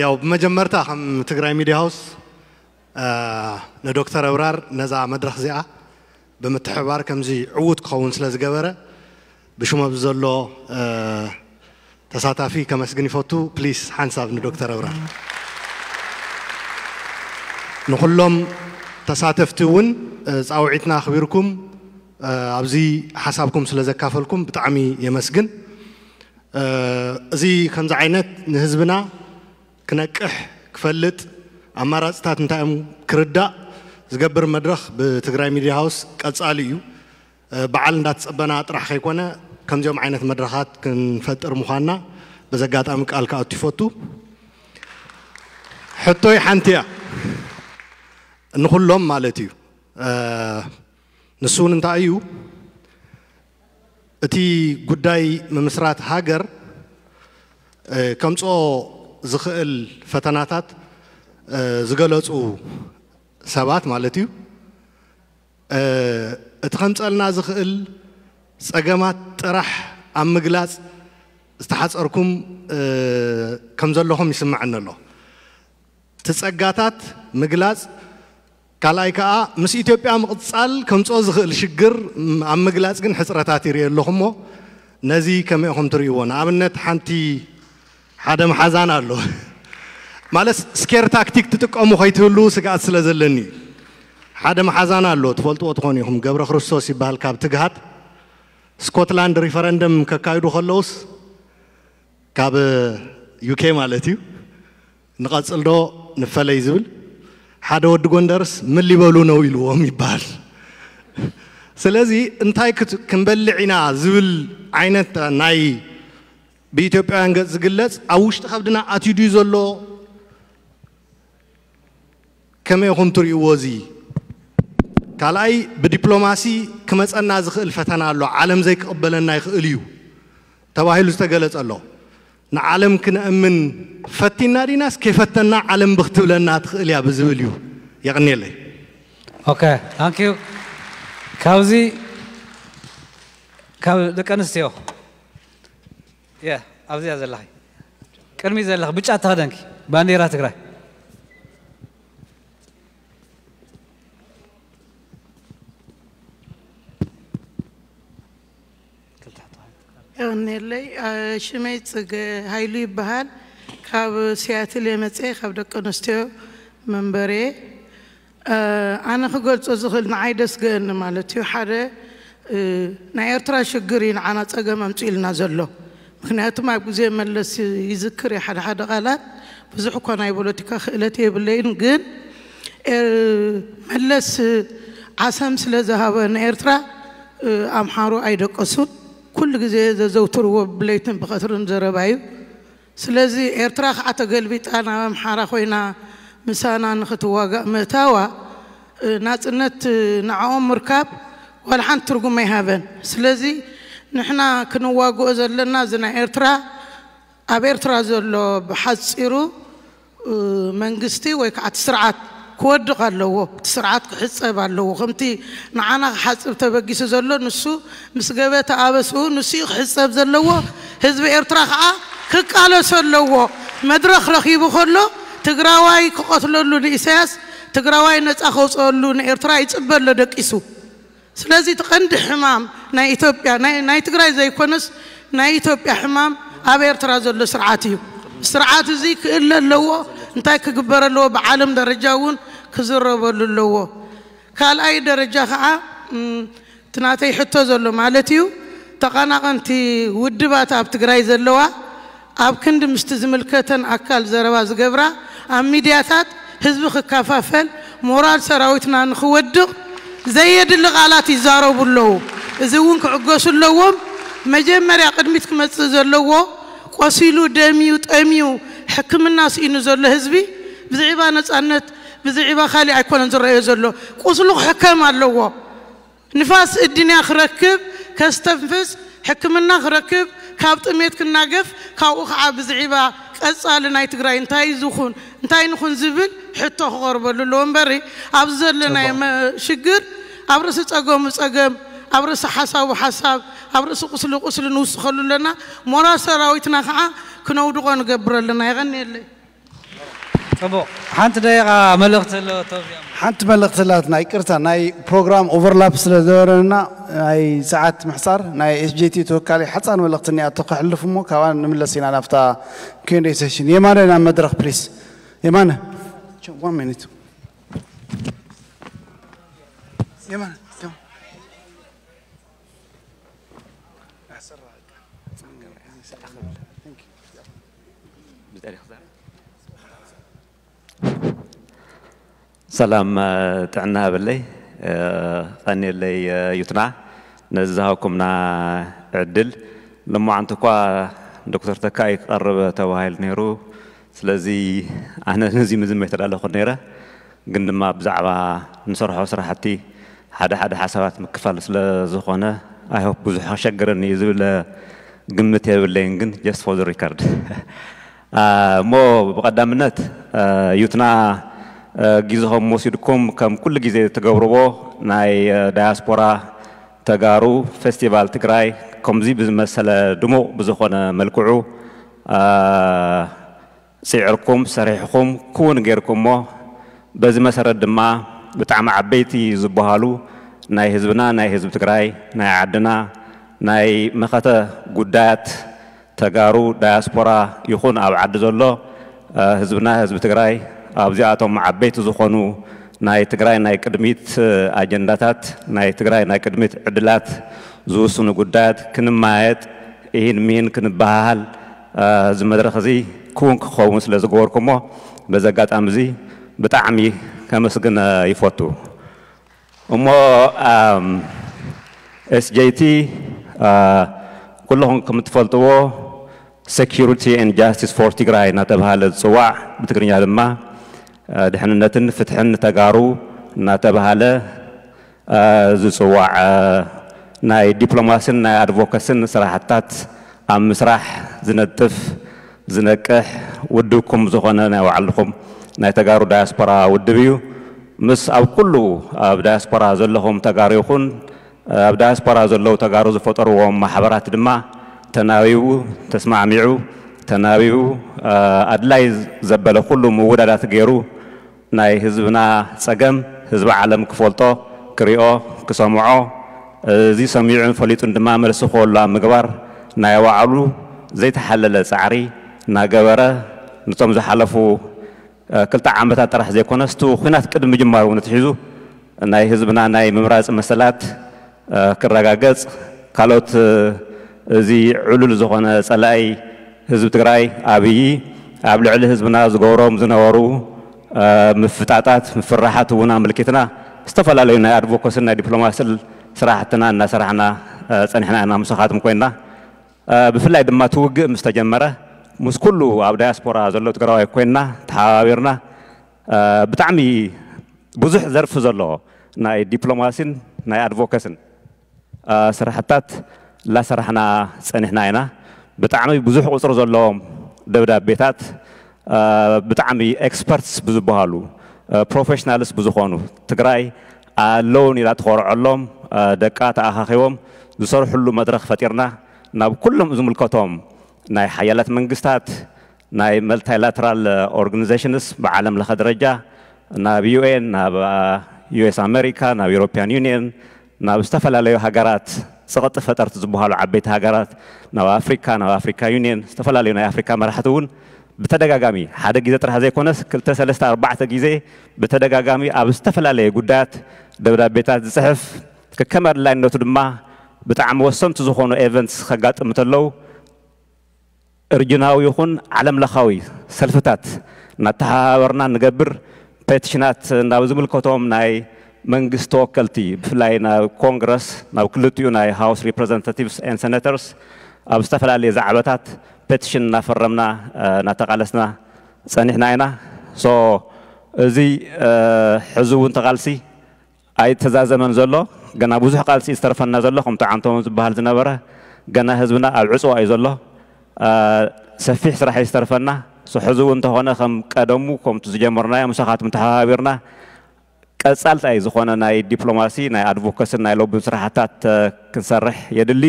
ያው ብመጀመርታ ከም ትግራይ ሚድያ ሃውስ ንዶክተር ኣብራር ነዛ መድረኽ እዚኣ ብምትሕብባር ከምዚ ዕዉት ክኸውን ስለ ዝገበረ ብሽሙ ኣብዚ ዘሎ ተሳታፊ ከመስግን ይፈቱ። ፕሊስ ሓንሳብ ንዶክተር ኣብራር። ንኹሎም ተሳተፍቲ እውን ፃውዒትና ኣኽቢርኩም ኣብዚ ሓሳብኩም ስለ ዘካፈልኩም ብጣዕሚ የመስግን። እዚ ከምዚ ዓይነት ንህዝብና ክነቅሕ፣ ክፈልጥ፣ ኣማራፅታት እንታይ እዮም ክርዳእ ዝገብር መድረኽ ብትግራይ ሚድያ ሃውስ ቀፃሊ እዩ። በዓል እንዳተፀበና ጥራሕ ከይኮነ ከምዚኦም ዓይነት መድረኻት ክንፈጥር ምዃንና በዚ ኣጋጣሚ ቃል ክኣቱ ይፈቱ። ሕቶይ ሓንቲ እያ፣ ንኹሎም ማለት እዩ። ንሱ እውን እንታይ እዩ፣ እቲ ጉዳይ ምምስራት ሃገር ከምፅኦ ዝኽእል ፈተናታት ዝገለፁ ሰባት ማለት እዩ፣ እቲ ከምፀልና ዝኽእል ፀገማት ጥራሕ ኣብ ምግላፅ ዝተሓፀርኩም ከም ዘለኹም ይስምዐኒ ኣሎ። እቲ ፀጋታት ምግላፅ፣ ካልኣይ ከዓ ምስ ኢትዮጵያ ምቕፃል ከምፅኦ ዝኽእል ሽግር ኣብ ምግላፅ ግን ሕፅረታት ይርኢ ኣለኹ። እሞ ነዚ ከመይ ኢኹም ትርእይዎ? ንኣብነት ሓንቲ ሓደ መሓዛን ኣሎ ማለት ስኬር ታክቲክ ትጥቀሙ ከይትህልዉ ስግኣት ስለ ዘለኒ እዩ። ሓደ መሓዛን ኣሎ፣ ትፈልጥዎ ትኾኑ ኢኹም፣ ገብረ ክርስቶስ ይበሃል፣ ካብ ትግሃት። ስኮትላንድ ሪፈረንደም ከካይዱ ከለውስ ካብ ዩኬ ማለት እዩ፣ ንቐፅል ዶ ንፈለይ ዝብል፣ ሓደ ወዲ ጎንደርስ ምን ሊበሉ ነው ኢልዎም ይበሃል። ስለዚ እንታይ ክንበልዕ ኢና ዝብል ዓይነት ናይ ብኢትዮጵያውያን ገፅ ዝግለፅ ኣብ ውሽጢ ከብድና ኣትዩ ድዩ ዘሎ? ከመይ ኢኹም ትርእይዎ? እዚ ካልኣይ ብዲፕሎማሲ ክመፀና ዝኽእል ፈተና ኣሎ፣ ዓለም ዘይክቕበለና ይኽእል እዩ ተባሂሉ ዝተገለፀ ኣሎ። ንዓለም ክነእምን ፈቲና ዲናስ ከይፈተና ዓለም ብክትብለና ትኽእል እያ ብዝብል እዩ። የቕንየለይ። ኦኬ፣ ታንክ ዩ። ካብዚ ካብ ደቂ ኣንስትዮ የ ኣብዚኣ ዘለኺ ቅድሚ ዘለኺ ብጫ ተኸደንኪ ባንዴራ ትግራይ የቐንየለይ። ሽመይ ጽገ ሃይሉ ይበሃል። ካብ ሲያትል እየ መጽየ፣ ካብ ደቂ ኣንስትዮ መንበርየ። ኣነ ክገልጾ ዝኽእል ንዓይ ደስገአኒ ማለት እዩ። ሓደ ናይ ኤርትራ ሽግር እዩ ንዓና ጸገም ኣምጺኡልና ዘሎ። ምክንያቱም ኣብ ግዜ መለስ ይዝክር እየ ሓደ ሓደ ቃላት፣ ብዙሕ እኳ ናይ ፖለቲካ ክእለት የብለይን፣ ግን መለስ ዓሰም ስለ ዝሃበ ንኤርትራ ኣምሓሩ ኣይደቀሱን። ኩሉ ግዜ ዘዘውትርዎ ብለይትን ብቐትርን ዘረባ እዩ። ስለዚ ኤርትራ ከዓ ተገልቢጣ ናብ ኣምሓራ ኮይና ምሳና ንክትዋጋእ ምእታዋ፣ ናጽነት ንዕኦም ምርካብ ዋላ ሓንቲ ትርጉም ኣይሃበን። ስለዚ ንሕና ክንዋግኦ ዘለና እዚ ናይ ኤርትራ፣ ኣብ ኤርትራ ዘሎ ብሓጺሩ መንግስቲ ወይ ከዓ እቲ ስርዓት ክወድቕ ኣለዎ። እቲ ስርዓት ክሕጸብ ኣለዎ። ከምቲ ንዓና ክሓጽብ ተበጊሱ ዘሎ፣ ንሱ ምስ ገበተ ኣበስኡ ንሱ እዩ ክሕጸብ ዘለዎ። ህዝቢ ኤርትራ ከዓ ክቃለሶ ኣለዎ። መድረኽ ረኺቡ ከሎ ትግራዋይ ክቐትለሉ ንኢሳያስ፣ ትግራዋይ ነፃ ከውፅአሉ ንኤርትራ ይፅበ ኣሎ ደቂሱ። ስለዚ እቲ ቀንዲ ሕማም ናይ ኢትዮጵያ፣ ናይ ትግራይ ዘይኮነስ ናይ ኢትዮጵያ ሕማም ኣብ ኤርትራ ዘሎ ስርዓት እዩ። ስርዓት እዚ ክእለ ኣለዎ። እንታይ ክግበር ኣለዎ? ብዓለም ደረጃ እውን ክዝረበሉ ኣለዎ። ካልኣይ ደረጃ ከዓ እቲ ናተይ ሕቶ ዘሎ ማለት እዩ፣ ተቐናቐንቲ ውድባት ኣብ ትግራይ ዘለዋ ኣብ ክንዲ ምስቲ ዝምልከተን ኣካል ዘረባ ዝገብራ፣ ኣብ ሚድያታት ህዝቢ ክከፋፈል፣ ሞራል ሰራዊትና ንክወድቕ ዘየድሊ ቃላት ይዛረቡ ኣለዉ። እዚ እውን ክዕገሱ ኣለዎም። መጀመርያ ቅድሚት ክመፅእ ዘለዎ፣ ቆሲሉ ደምዩ ጠምዩ ሕክምና ስኢኑ ዘሎ ህዝቢ ብዝዒባ ነፃነት፣ ብዝዒባ ካሊእ ኣይኮነን ዝረአዮ ዘሎ። ቁስሉ ክሕከም ኣለዎ። ንፋስ እድንያ ክረክብ፣ ከስተንፍስ፣ ሕክምና ክረክብ፣ ካብ ጥሜት ክናገፍ፣ ካብኡ ከዓ ብዝዒባ ቀፃሊ ናይ ትግራይ እንታይ ዝኹን እንታይ ንኹን ዝብል ሕቶ ክቐርበሉ ኣለዎ እምበሪ፣ ኣብዚ ዘለና ሽግር ኣብ ርእሲ ፀገሙ ፀገም፣ ኣብ ርእሲ ሓሳቡ ሓሳብ፣ ኣብ ርእሲ ቁስሊ ቁስሊ ንውስኸሉ ኣለና። ሞራል ሰራዊትና ከዓ ክነውድቆ ንገብር ኣለና። የቐንየለይ። ፅቡቕ። ሓንቲ ደቂቓ መልእኽቲ ኣሎ። ሓንቲ መልእኽቲ ኣላትና፣ ይቅርታ፣ ናይ ፕሮግራም ኦቨርላፕ ስለ ዝነበረና ናይ ሰዓት ምሕፃር፣ ናይ ኤስጄቲ ተወካሊ ሓፃር መልእኽቲ እኒኣቶ ከሕልፍ እሞ ካብኣ ንምለስ ኢና ናብታ ኪንዴ ሴሽን። የማነ ናብ መድረኽ ፕሊስ። የማነ። One minute። የማነ። ሰላም ጥዕና ሃበለይ። ቀንየለይ ዩትና ነዚ ዝሃብኩምና ዕድል። ልሙዓንቲ እኳ ዶክተር ተካኢ ክቐርብ ተባሂሉ ነይሩ። ስለዚ ኣነ ነዚ ምዝም ኣይተዳለኹን ነይረ፣ ግን ድማ ብዛዕባ ንሰርሖ ስራሕቲ ሓደ ሓደ ሓሳባት ምክፋል ስለ ዝኾነ፣ I hope ብዙሕ ከሸግረኒ እዩ ዝብል ግምት የብለይን፣ ግን just for the record። እሞ ብቐዳምነት ዩትና ግዜኹም ወሲድኩም ከም ኩሉ ግዜ ትገብርዎ ናይ ዳያስፖራ ተጋሩ ፌስቲቫል ትግራይ ከምዚ ብዝመሰለ ድሙቕ ብዝኾነ መልክዑ ፅዒርኩም ሰሪሕኹም ክውን ጌርኩሞ። በዚ መሰረት ድማ ብጣዕሚ ዓበይቲ ዝበሃሉ ናይ ህዝብና፣ ናይ ህዝቢ ትግራይ፣ ናይ ዓድና ናይ መኸተ ጉዳያት ተጋሩ ዳያስፖራ ይኹን ኣብ ዓዲ ዘሎ ህዝብና ህዝቢ ትግራይ ኣብዚኣቶም ዓበይቲ ዝኾኑ ናይ ትግራይ ናይ ቅድሚት ኣጀንዳታት ናይ ትግራይ ናይ ቅድሚት ዕድላት ዝውስኑ ጉዳያት ክንማየጥ ኢሂን ሚሂን ክንበሃሃል እዚ መድረኽ እዚ ክውን ክኸውን ስለ ዝገበርኩሞ በዚ ኣጋጣሚ እዚ ብጣዕሚ ከመስግን ይፈቱ። እሞ SJT ኩልኹም ከም እትፈልጥዎ Security and Justice for ትግራይ እናተባሃለ ዝፅዋዕ ብትግርኛ ድማ ድሕንነትን ፍትሕን ተጋሩ እናተባሃለ ዝፅዋዕ ናይ ዲፕሎማስን ናይ ኣድቮካስን ስራሕታት ኣብ ምስራሕ ዝነጥፍ ዝነቅሕ ውድብኩም ዝኾነ ናይ ባዕልኹም ናይ ተጋሩ ዳያስፖራ ውድብ እዩ። ምስ ኣብ ኩሉ ኣብ ዳያስፖራ ዘለኹም ተጋሩ ይኹን ኣብ ዳያስፖራ ዘለዉ ተጋሩ ዝፈጠርዎም ማሕበራት ድማ ተናቢቡ ተስማዕሚዑ ተናቢቡ ኣድላይ ዘበለ ኩሉ ምውዳዳት ገይሩ ናይ ህዝብና ፀገም ህዝቢ ዓለም ክፈልጦ ክሪኦ ክሰምዖ እዚ ሰሚዑን ፈሊጡን ድማ መልሲ ክህሉ ኣብ ምግባር ናይ ባዕሉ ዘይተሓለለ ፃዕሪ እናገበረ፣ ነቶም ዝሓለፉ ክልተ ዓመታት ጥራሕ ዘይኮነስ እቲ ኲናት ቅድሚ ምጅማሩ እውን ኣትሒዙ ናይ ህዝብና ናይ ምምራፅ መሰላት ክረጋገፅ፣ ካልኦት እዚ ዕሉል ዝኾነ ፀላኢ ህዝቢ ትግራይ ኣብይ ኣብ ልዕሊ ህዝብና ዝገብሮም ዝነበሩ ምፍጣጣት፣ ምፍርራሓት እውን ኣመልኪትና ዝተፈላለዩ ናይ ኣድቮኮስን ናይ ዲፕሎማስን ስራሕትና እናሰራሕና ፀኒሕና ኢና። ምሳኻትኩም ኮይንና ብፍላይ ድማ እቲ ውግእ ምስ ተጀመረ ምስ ኩሉ ኣብ ዳያስፖራ ዘሎ ትግራዋይ ኮይንና ተሓባቢርና ብጣዕሚ ብዙሕ ዘርፊ ዘለዎ ናይ ዲፕሎማሲን ናይ ኣድቮኬስን ስራሕታት እናሰራሕና ፀኒሕና ኢና። ብጣዕሚ ብዙሕ ቁፅሪ ዘለዎም ደብዳቤታት ብጣዕሚ ኤክስፐርትስ ብዝበሃሉ ፕሮፌሽናልስ ብዝኾኑ ትግራይ ኣለውን ኢላ ትኾርዐሎም ደቃ ተኣኻኺቦም ዝሰርሕሉ መድረኽ ፈጢርና ናብ ኩሎም ዝምልከቶም ናይ ሓያላት መንግስታት ናይ መልታይላተራል ኦርጋኒዜሽንስ ብዓለም ለኸ ደረጃ ናብ ዩኤን ናብ ዩኤስ ኣሜሪካ ናብ ዩሮፒያን ዩኒየን ናብ ዝተፈላለዩ ሃገራት ፀቕጢ ፈጠርቲ ዝበሃሉ ዓበይቲ ሃገራት ናብ ኣፍሪካ ናብ ኣፍሪካ ዩኒየን ዝተፈላለዩ ናይ ኣፍሪካ መራሕቲ እውን ብተደጋጋሚ ሓደ ግዜ ጥራሕ ዘይኮነስ ክልተ ሰለስተ ኣርባዕተ ግዜ ብተደጋጋሚ ኣብ ዝተፈላለየ ጉዳያት ደብዳቤታት ዝፅሕፍ ከከም ኣድላይነቱ ድማ ብጣዕሚ ወሰንቲ ዝኾኑ ኤቨንትስ ከጋጥም እንተለዉ እርጅናዊ ይኹን ዓለም ለኻዊ ሰልፍታት እናተሓባበርና ንገብር ፔቲሽናት ናብ ዝምልከቶም ናይ መንግስቲ ተወከልቲ ብፍላይ ናብ ኮንግረስ ናብ ክልቲኡ ናይ ሃውስ ሪፕሬዘንታቲቭስ ኤን ሴኔተርስ ኣብ ዝተፈላለየ ዛዕባታት ፔቲሽን እናፈረምና እናተቃለስና ፀኒሕና ኢና። ሶ እዚ ሕዚ እውን ተቃልሲ ኣይተዛዘመን ዘሎ ገና ብዙሕ ቃልሲ ዝተርፈና ዘሎ ከምቲ ዓንቶም ዝበሃል ዝነበረ ገና ህዝብና ኣብ ዕፅዋ እዩ ዘሎ። ሰፊሕ ስራሕ እዩ ዝተርፈና። ሕዚ እውን እንተኾነ ከም ቀደሙ ከምቲ ዝጀመርናዮ ምሳኻትኩም ተሓባቢርና ቀፃልታይ ዝኾነ ናይ ዲፕሎማሲ ናይ ኣድቮኬስን ናይ ሎቢን ስራሕታት ክንሰርሕ የድሊ።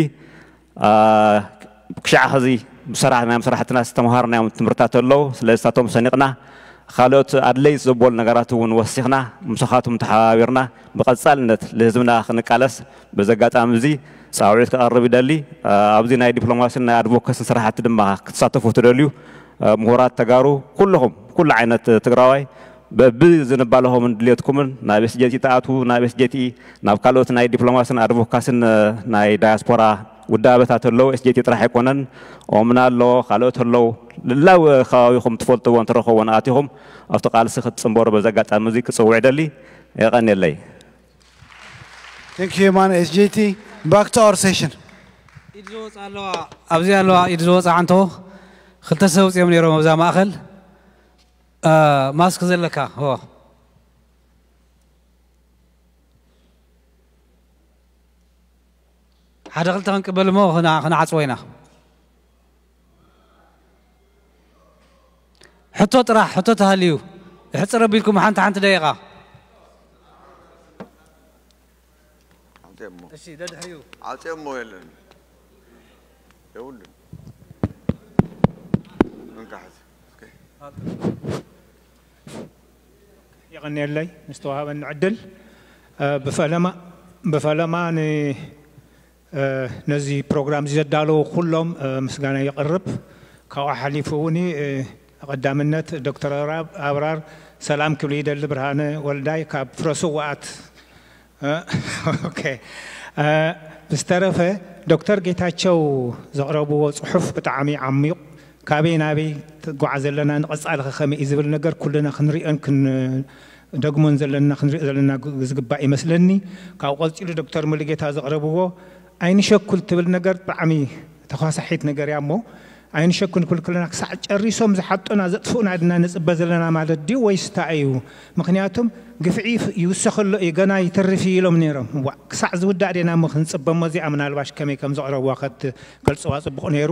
ክሻዕ ሕዚ ብሰራሕናዮም ስራሕትና ዝተምሃርናዮም ትምህርታት ኣለዉ። ስለዚ እሳቶም ሰኒቕና ካልኦት ኣድለይቲ ዘበሉ ነገራት እውን ወሲኽና ምሳኻትኩም ተሓባቢርና ብቐፃልነት ልህዝብና ክንቃለስ በዚ ኣጋጣሚ እዚ ፃውዒት ክቐርብ ይደሊ። ኣብዚ ናይ ዲፕሎማሲን ናይ ኣድቮኬስን ስራሕቲ ድማ ክትሳተፉ ትደልዩ ምሁራት ተጋሩ ኩልኹም ኩሉ ዓይነት ትግራዋይ በብዝንባለኹምን ድልየትኩምን ናብ ኤስጄቲ ተኣትዉ ናብ ኤስጄቲ ናብ ካልኦት ናይ ዲፕሎማስን ኣድቮካስን ናይ ዳያስፖራ ውዳበታት ኣለዉ። ኤስጄቲ ጥራሕ ኣይኮነን፣ ኦምና ኣሎ፣ ካልኦት ኣለዉ። ልላው ከባቢኹም ትፈልጥዎ እንተረኸቦ ንኣቲኹም ኣብቲ ቃልሲ ክትፅንበሩ በዚ ኣጋጣሚ እዚ ክፅውዕ ደሊ። የቐንየለይ። Thank you, man. S J T, back to our session. ኢድ ዝወፃ ኣለዋ ኣብዚ ኣለዋ ኢድ ዝወፃ ዓንቶ ክልተ ሰብ ውፅኦም ነይሮም ኣብዛ ማእኸል ማስክ ዘለካ ሆ ሓደ ክልተ ክንቅበል እሞ ክንዓፅዎ ኢና ሕቶ ጥራሕ ሕቶ ተሃልዩ ሕፅር ኣቢልኩም ሓንቲ ሓንቲ ደቂቃ ዓፅየሞ የለን የብሉን እንካሕዝ የቐንየለይ ንዝተዋሃበኒ ዕድል ብፈለማ ብፈለማ ነዚ ፕሮግራም እዚ ዘዳለዉ ኩሎም ምስጋና የቕርብ። ካብኡ ሓሊፉ እውን ቀዳምነት ዶክተር ኣብራር ሰላም ክብል ይደሊ። ብርሃነ ወልዳይ ካብ ፍረ ስውኣት። ብዝተረፈ ዶክተር ጌታቸው ዘቕረብዎ ፅሑፍ ብጣዕሚ ዓሚቕ ካበይ ናበይ ትጓዓዝ ኣለና ንቐፃሊ ከ ከመይ እዩ ዝብል ነገር ኩልና ክንሪኦን ክንደግሞን ዘለና ክንሪኦ ዘለና ዝግባእ ይመስለኒ። ካብኡ ቀፂሉ ዶክተር ሙሉጌታ ዘቕረብዎ ኣይንሸኩል ትብል ነገር ብጣዕሚ ተኳሳሒት ነገር እያ እሞ ኣይንሸኩል ክብል ከለና ክሳዕ ጨሪሶም ዝሓጡና ዘጥፍኡና ድና ንፅበ ዘለና ማለት ድዩ ወይስ እንታይ እዩ? ምክንያቱም ግፍዒ ይውሰኸሎ እዩ ገና ይተርፍ እዩ ኢሎም ነይሮም። ዋእ ክሳዕ ዝውዳእ ዲና እሞ ክንፅበ እሞ እዚኣ ምናልባሽ ከመይ ከም ዘቕረብዋ ከትገልፅዋ ፅቡቕ ነይሩ።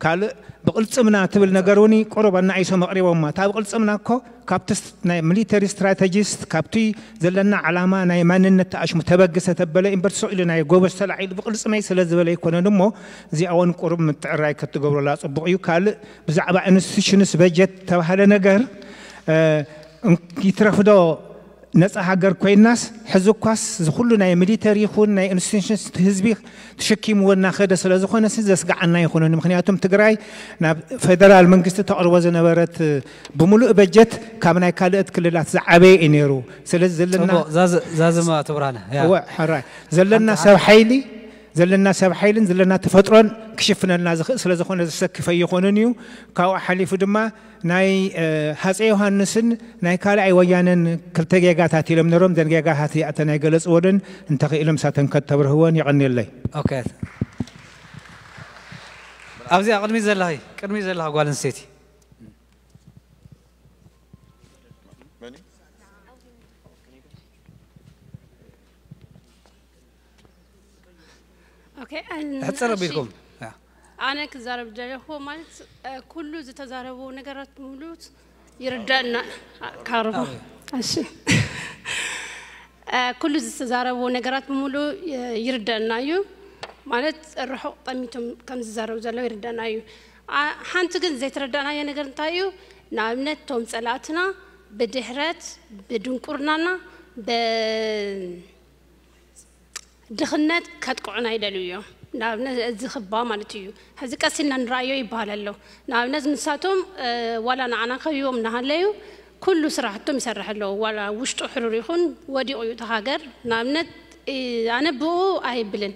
ካልእ ብቕልፅምና ትብል ነገር እውን ቁሩብ ኣናኢሶም ኣቕሪቦማ። እታ ብቕልፅምና እኮ ካብቲ ናይ ሚሊተሪ ስትራተጂስት ካብቲ ዘለና ዓላማ ናይ ማንነት ተኣሽሙ ተበግሰ ተበለ እምበር ስቕ ኢሉ ናይ ጎበዝ ተላዒሉ ብቕልፅመይ ስለ ዝበለ ኣይኮነን እሞ እዚኣ እውን ቁሩብ ምትዕራይ ክትገብረላ ፅቡቕ እዩ። ካልእ ብዛዕባ ኢንስቲቱሽንስ በጀት ተባህለ ነገር ይትረፍዶ ነፃ ሃገር ኮይናስ ሕዚ እኳስ ዝኩሉ ናይ ሚሊተሪ ይኹን ናይ ኢንስቲቱሽንስ ህዝቢ ተሸኪምዎ እናኸደ ስለ ዝኾነ ሲ ዘስግዓና ይኹንን። ምክንያቱም ትግራይ ናብ ፌደራል መንግስቲ ተቕርቦ ዝነበረት ብምሉእ በጀት ካብ ናይ ካልኦት ክልላት ዝዓበየ እዩ ነይሩ። ስለዚ ዘለና እዛ ዘማ ትብራና እወ ሕራይ ዘለና ሰብ ሓይሊ ዘለና ሰብ ሓይልን ዘለና ተፈጥሮን ክሽፍነልና ዝኽእል ስለ ዝኾነ ዘሰክፍ ኣይኾንን እዩ። ካብኡ ሓሊፉ ድማ ናይ ሃፀይ ዮሃንስን ናይ ካልኣይ ወያነን ክልተ ጌጋታት ኢሎም ነሮም። ዘን ጌጋታት እተ ናይ ገለፅወልን እንተኽኢሎም ሳተን ከተብርህወን የቐንየለይ። ኣብዚኣ ቅድሚ ዘለኺ ቅድሚ ዘለኻ ጓል ኣንስተይቲ ሕፅር ቢልኩም ኣነ ክዛረብ ደለኹ ማለት ኩሉ ዝተዛረቡ ነገራት ብምሉት ይርዳና ካርቦ እሺ ኩሉ ዝተዛረቡ ነገራት ብምሉ ይርዳና እዩ ማለት ርሑቕ ጠሚቶም ከም ዝዛረቡ ዘለዉ ይርዳና እዩ ሓንቲ ግን ዘይተረዳእናዮ ነገር እንታይ እዩ ንኣብነት ቶም ፀላእትና ብድሕረት ብድንቁርናና ድኽነት ከጥቅዑና ይደልዩ እዮም። ንኣብነት እዚ ክባ ማለት እዩ። ሕዚ ቀስ ኢልና ንረኣዮ ይበሃል ኣሎ። ንኣብነት ንሳቶም ዋላ ንዓና ከቢቦም እናሃለዩ ኩሉ ስራሕቶም ይሰርሕ ኣለዉ። ዋላ ውሽጡ ሕሩር ይኹን ወዲቑ እዩ እቲ ሃገር። ንኣብነት ኣነ ብኡ ኣይብልን።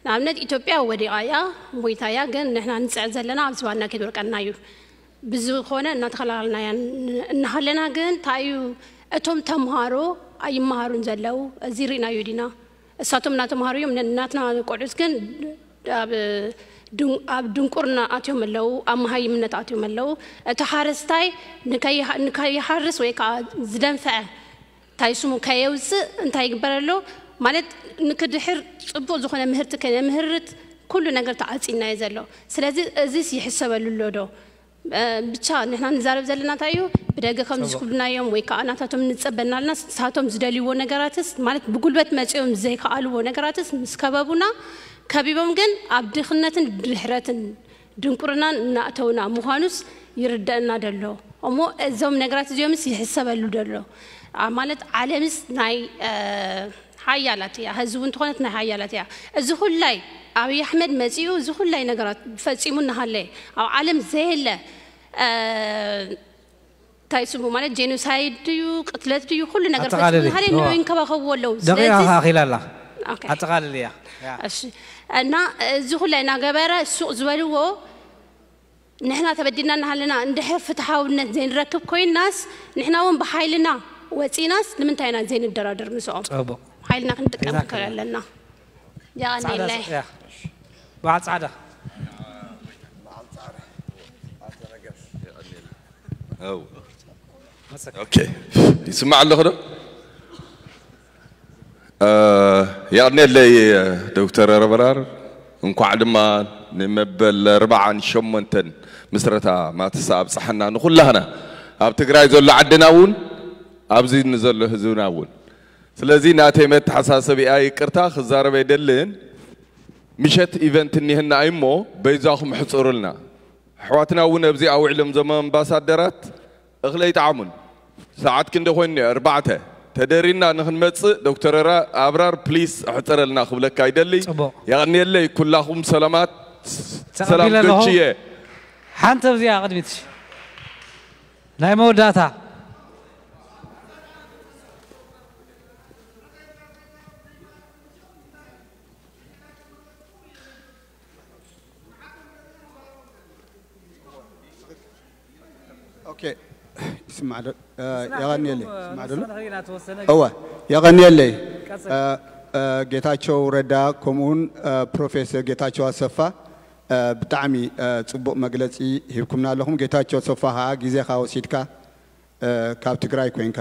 ንኣብነት ኢትዮጵያ ወዲቓ እያ፣ ሞይታ እያ። ግን ንሕና ንፅዕ ዘለና ኣብዚ ባና ከይትወድቀና እዩ። ብዝኾነ እናተኸላኸልና እያ እናሃለና ግን እንታይ እዩ እቶም ተምሃሮ ኣይመሃሩን ዘለዉ እዚ ርኢናዮ ዲና እሳቶም እናተምሃሩ እዮም። ናትና ቆልዑት ግን ኣብ ድንቁርና ኣትዮም ኣለዉ፣ ኣብ መሃይምነት ኣትዮም ኣለዉ። እቲ ሓረስታይ ንከይሃርስ ወይ ከዓ ዝደንፈዐ እንታይ ስሙ ከየውፅእ እንታይ ይግበር ኣሎ ማለት ንክድሕር ፅቡቅ ዝኾነ ምህርቲ ከነምህርት ኩሉ ነገር ተዓፂናዮ ዘሎ። ስለዚ እዚስ ይሕሰበሉ ኣሎ ዶ? ብቻ ንሕና ንዛረብ ዘለና እንታይ እዩ ብደገ ከም ዝስኩሉና እዮም ወይ ከዓ ናታቶም ንፀበና ኣለና ንሳቶም ዝደልይዎ ነገራትስ ማለት ብጉልበት መፂኦም ዘይከኣልዎ ነገራትስ ምስ ከበቡና ከቢቦም ግን ኣብ ድኽነትን ድሕረትን ድንቁርናን እናእተውና ምዃኑስ ይርደአና ደሎ እሞ እዞም ነገራት እዚኦምስ ይሕሰበሉ ደሎ ማለት ዓለምስ ናይ ሓያላት እያ፣ ህዝቢ እውን ተኾነት ናይ ሓያላት እያ። እዚ ኩላይ ኣብይ ኣሕመድ መፂኡ እዚ ኩላይ ነገራት ፈፂሙ እናሃለየ ኣብ ዓለም ዘየለ እንታይ ስሙ ማለት ጄኖሳይድ ድዩ ቅትለት ድዩ ኩሉ ነገር ፈፂሙ እናሃለየ ንበይ ይንከባኸብዎ ኣለዉ። ደቂቃ ከኣኺላ ኣላ ኣጠቓልል እያ። እሺ እና እዚ ኩላይ እናገበረ ሱቕ ዝበልዎ ንሕና ተበዲልና እናሃለና እንድሕር ፍትሓውነት ዘይንረክብ ኮይናስ ንሕና እውን ብሓይልና ወፂናስ ንምንታይ ኢና ዘይንደራደር ምስኦም ሓይልና ክንጥቀም ንክእል ኣለና። የቐንየለይ። በዓል ፃዕዳ ይስማዕ ኣለኹ ዶ? የቐንየለይ ዶክተር ረበራር እንኳዕ ድማ ንመበል ኣርባዓን ሸሞንተን ምስረታ ማትሳ ኣብፀሐና ንኩላህና ኣብ ትግራይ ዘሎ ዓድና እውን ኣብዚ ንዘሎ ህዝብና እውን ስለዚ ናተይ መተሓሳሰቢኣ ይቅርታ ክዛረብ ኣይደልን ምሸት event እኒሀና እዩ እሞ በይዛኹም ሕፅሩልና ኣሕዋትና እውን ኣብዚ ኣውዒሎም ዘም ኣምባሳደራት እኽሊ ኣይጠዓሙን ሰዓት ክንደ ኮይኑ እኒኦ ኣርባዕተ ተደሪና ንክንመፅእ ዶክተር ኣብራር please ኣሕፅረልና ክብለካ ይደሊ የቐንየለይ ኩላኹም ሰላማት ሰላም ዶችየ ሓንቲ ኣብዚኣ ቅድሚት ናይ መወዳእታ ይስማዕ ዶ? የቐንየለይ ይስማዕ ዶ? እወ የቐንየለይ ጌታቸው ረዳ ከምኡውን ፕሮፌሰር ጌታቸው ኣሰፋ ብጣዕሚ ፅቡቕ መግለፂ ሂብኩምና ኣለኹም። ጌታቸው ኣሰፋ ከዓ ግዜኻ ወሲድካ ካብ ትግራይ ኮይንካ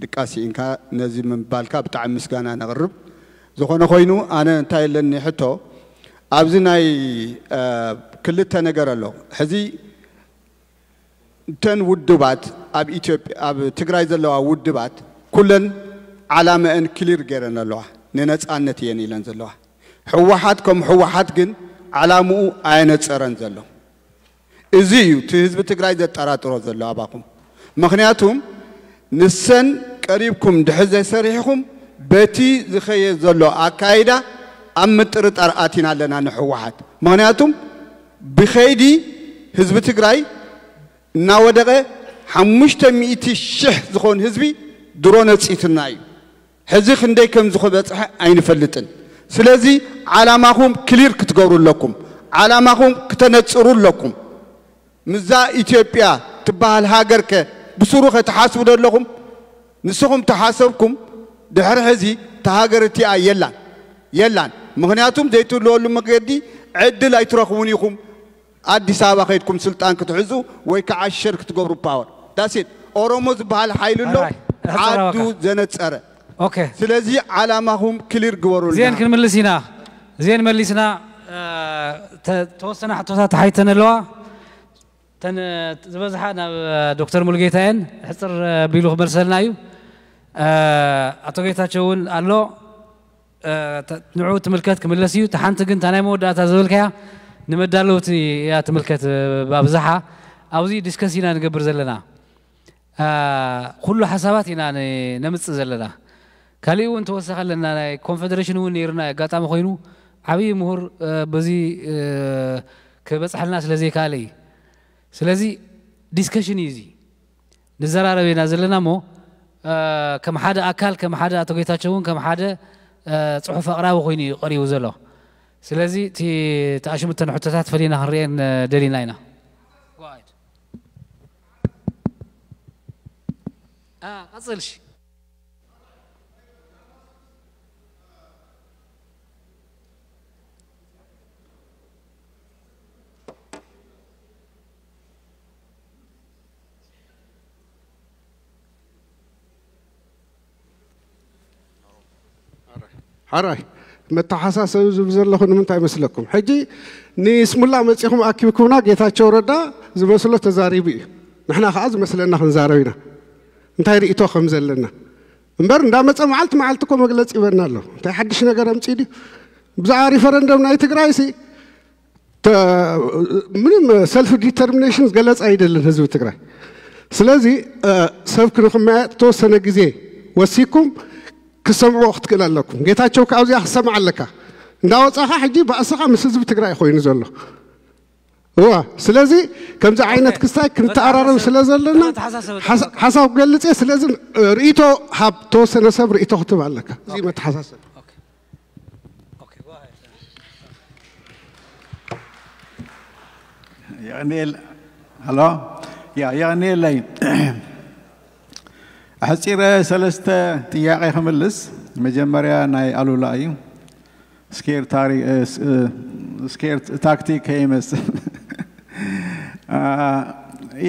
ድቃስ ስኢንካ ነዚ ምባልካ ብጣዕሚ ምስጋና ነቕርብ። ዝኾነ ኮይኑ ኣነ እንታይ ኣለኒ ሕቶ ኣብዚ ናይ ክልተ ነገር ኣሎ። ሕዚ እተን ውድባት ኣብ ኢትዮጵያ ኣብ ትግራይ ዘለዋ ውድባት ኩለን ዓላመአን ክሊር ገይረን ኣለዋ። ንነፃነት እየን ኢለን ዘለዋ። ህወሓት ከም ህወሓት ግን ዓላምኡ ኣየነፀረን ዘሎ። እዚ እዩ እቲ ህዝቢ ትግራይ ዘጠራጥሮ ዘሎ ኣባኹም። ምኽንያቱም ንሰን ቀሪብኩም ድሕር ዘይሰሪሕኹም በቲ ዝኸየ ዘሎ ኣካይዳ ኣብ ምጥርጣር ኣቲና ኣለና ንሕወሓት። ምኽንያቱም ብኸይዲ ህዝቢ ትግራይ እናወደቐ ሓሙሽተ ሚእቲ ሽሕ ዝኾን ህዝቢ ድሮ ነፂትና እዩ። ሕዚ ክንደይ ከም ዝኸበፅሐ ኣይንፈልጥን። ስለዚ ዓላማኹም ክሊር ክትገብሩ ኣለኩም። ዓላማኹም ክተነፅሩ ኣለኩም። ምዛ ኢትዮጵያ ትበሃል ሃገር ከ ብስሩ ከ ትሓስቡ ዶ ኣለኹም? ንስኹም ተሓሰብኩም ድሕሪ ሕዚ እታ ሃገር እቲኣ የላን የላን። ምኽንያቱም ዘይትህልወሉ መገዲ ዕድል ኣይትረኽቡን ኢኹም። ኣዲስ ኣበባ ከይድኩም ስልጣን ክትሕዙ ወይ ከዓ ሸር ክትገብሩ ፓወር ዳሴት ኦሮሞ ዝበሃል ሓይሊ ኣሎ። ዓዱ ዘነፀረ። ስለዚ ዓላማኹም ክሊር ግበሩልና። እዚአን ክንምልስ ኢና። እዚአን መሊስና። ተወሰነ ሕቶታት ተሓይተን ኣለዋ። ተን ዝበዝሓ ናብ ዶክተር ሙሉጌታ እየን። ሕፅር ቢሉ ክመልሰልና እዩ። ኣቶ ጌታቸው እውን ኣሎ። ንዑ ትምልከት ክምለስ እዩ። ተሓንቲ ግን እታ ናይ መወዳእታ ዝበልካያ ንመዳለውቲ እያ ትምልከት። ብኣብዝሓ ኣብዚ ዲስከስ ኢና ንገብር ዘለና። ኩሉ ሓሳባት ኢና ነምፅእ ዘለና። ካሊእ እውን ተወሳኺ ኣለና። ናይ ኮንፌደሬሽን እውን ነይርና ኣጋጣሚ ኮይኑ ዓብዪ ምሁር በዚ ክበፅሐልና ስለ ዘይከኣለ እዩ። ስለዚ ዲስከሽን እዩ እዚ። ንዘራረብ ኢና ዘለና እሞ ከም ሓደ ኣካል ከም ሓደ ኣቶ ጌታቸው እውን ከም ሓደ ፅሑፍ ኣቕራቢ ኮይኑ እዩ ቀሪቡ ዘሎ። ስለዚ እቲ ተኣሽምተን ሕቶታት ፈሊና ክንሪኤን ደሊና ኢና። ቀፅል። ሓራይ መተሓሳሰቢ ዝብል ዘለኹ ንምንታይ መስለኩም? ሕጂ ንስሙላ መፂኹም ኣኪብኩምና፣ ጌታቸው ረዳ ዝመስሎ ተዛሪቡ እዩ። ንሕና ከዓ ዝመስለና ክንዛረብ ኢና፣ እንታይ ርእቶ ከም ዘለና። እምበር እንዳመፀ መዓልቲ መዓልቲ እኮ መግለፂ ይበና ኣሎ። እንታይ ሓድሽ ነገር ኣምፂ ድዩ? ብዛዕባ ሪፈረንደም ናይ ትግራይ ሲ ምንም ሰልፍ ዲተርሚኔሽን ገለፃ ኣይደልን ህዝቢ ትግራይ። ስለዚ ሰብ ክንክመያ ተወሰነ ግዜ ወሲኩም ክሰምዕዎ ክትክእል ኣለኩም። ጌታቸው ካብዚኣ ክሰምዕ ኣለካ። እንዳወፃኻ ሕጂ ባእስኻ ምስ ህዝቢ ትግራይ ኮይኑ ዘሎ። እዋ ስለዚ ከምዚ ዓይነት ክስታይ ክንተኣራረብ ስለ ዘለና ሓሳብ ክገልፅ እየ። ስለዚ ርእይቶ ሃብ ተወሰነ ሰብ ርእይቶ ክትብ ኣለካ። እዚ መተሓሳሰብ የቐንየል ኣሎ ያ የቐንየለይ። ኣሕፂረ ሰለስተ ጥያቄ ክምልስ። መጀመርያ ናይ ኣሉላ እዩ። ስኬር ታክቲክ ከይመስል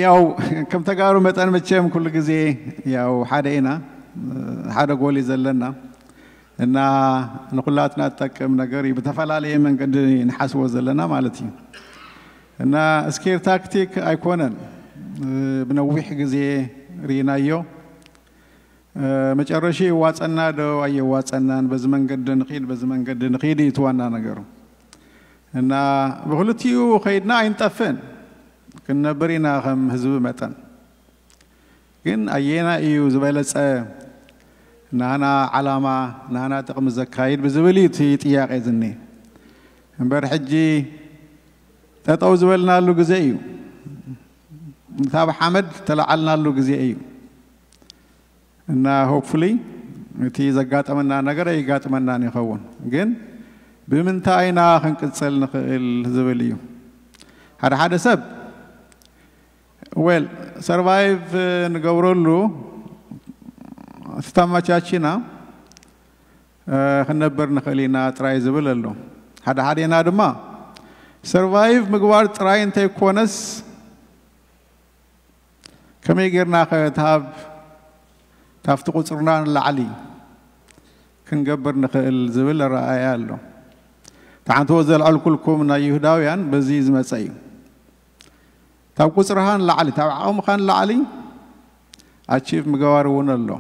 ያው ከም ተጋሩ መጠን መቸም ኩሉ ግዜ ያው ሓደ ኢና፣ ሓደ ጎል እዩ ዘለና እና ንኩላትና ዝጠቅም ነገር እዩ። ብተፈላለየ መንገዲ ንሓስቦ ዘለና ማለት እዩ እና ስኬር ታክቲክ ኣይኮነን። ብነዊሕ ግዜ ርኢናዮ። መጨረሻ ይዋፀና ዶ ኣየዋፀናን፣ በዚ መንገዲ ንኺድ በዚ መንገዲ ንኺድ እዩ እቲ ዋና ነገሩ እና ብክልቲኡ ከይድና ኣይንጠፍእን፣ ክንነብር ኢና ከም ህዝቢ መጠን። ግን ኣየና እዩ ዝበለፀ ናህና ዓላማ ናህና ጥቕሚ ዘካይድ ብዝብል እዩ እቲ ጥያቄ ዝኒ እምበር ሕጂ ጠጠው ዝበልናሉ ግዜ እዩ። ካብ ሓመድ ተለዓልናሉ ግዜ እዩ እና ሆፕፉሊ እቲ ዘጋጠመና ነገር ኣይጋጥመናን ይኸውን። ግን ብምንታይ ኢና ክንቅፅል ንኽእል ዝብል እዩ። ሓደ ሓደ ሰብ ዌል ሰርቫይቭ ንገብረሉ ዝተመቻችና ክንነብር ንኽእል ኢና ጥራይ ዝብል ኣሎ። ሓደ ሓዴና ድማ ሰርቫይቭ ምግባር ጥራይ እንተይኮነስ ከመይ ጌርና ከ ታብ ታብቲ ቁፅርና ንላዕሊ ክንገብር ንኽእል ዝብል ኣረኣእያ ኣሎ። እቲ ሓንትዎ ዘልዐልኩልኩም ናይ ይሁዳውያን በዚ ዝመፀ እዩ። ካብ ቁፅርኻ ንላዕሊ፣ ካብ ዓቕምኻ ንላዕሊ ኣቺቭ ምግባር እውን ኣሎ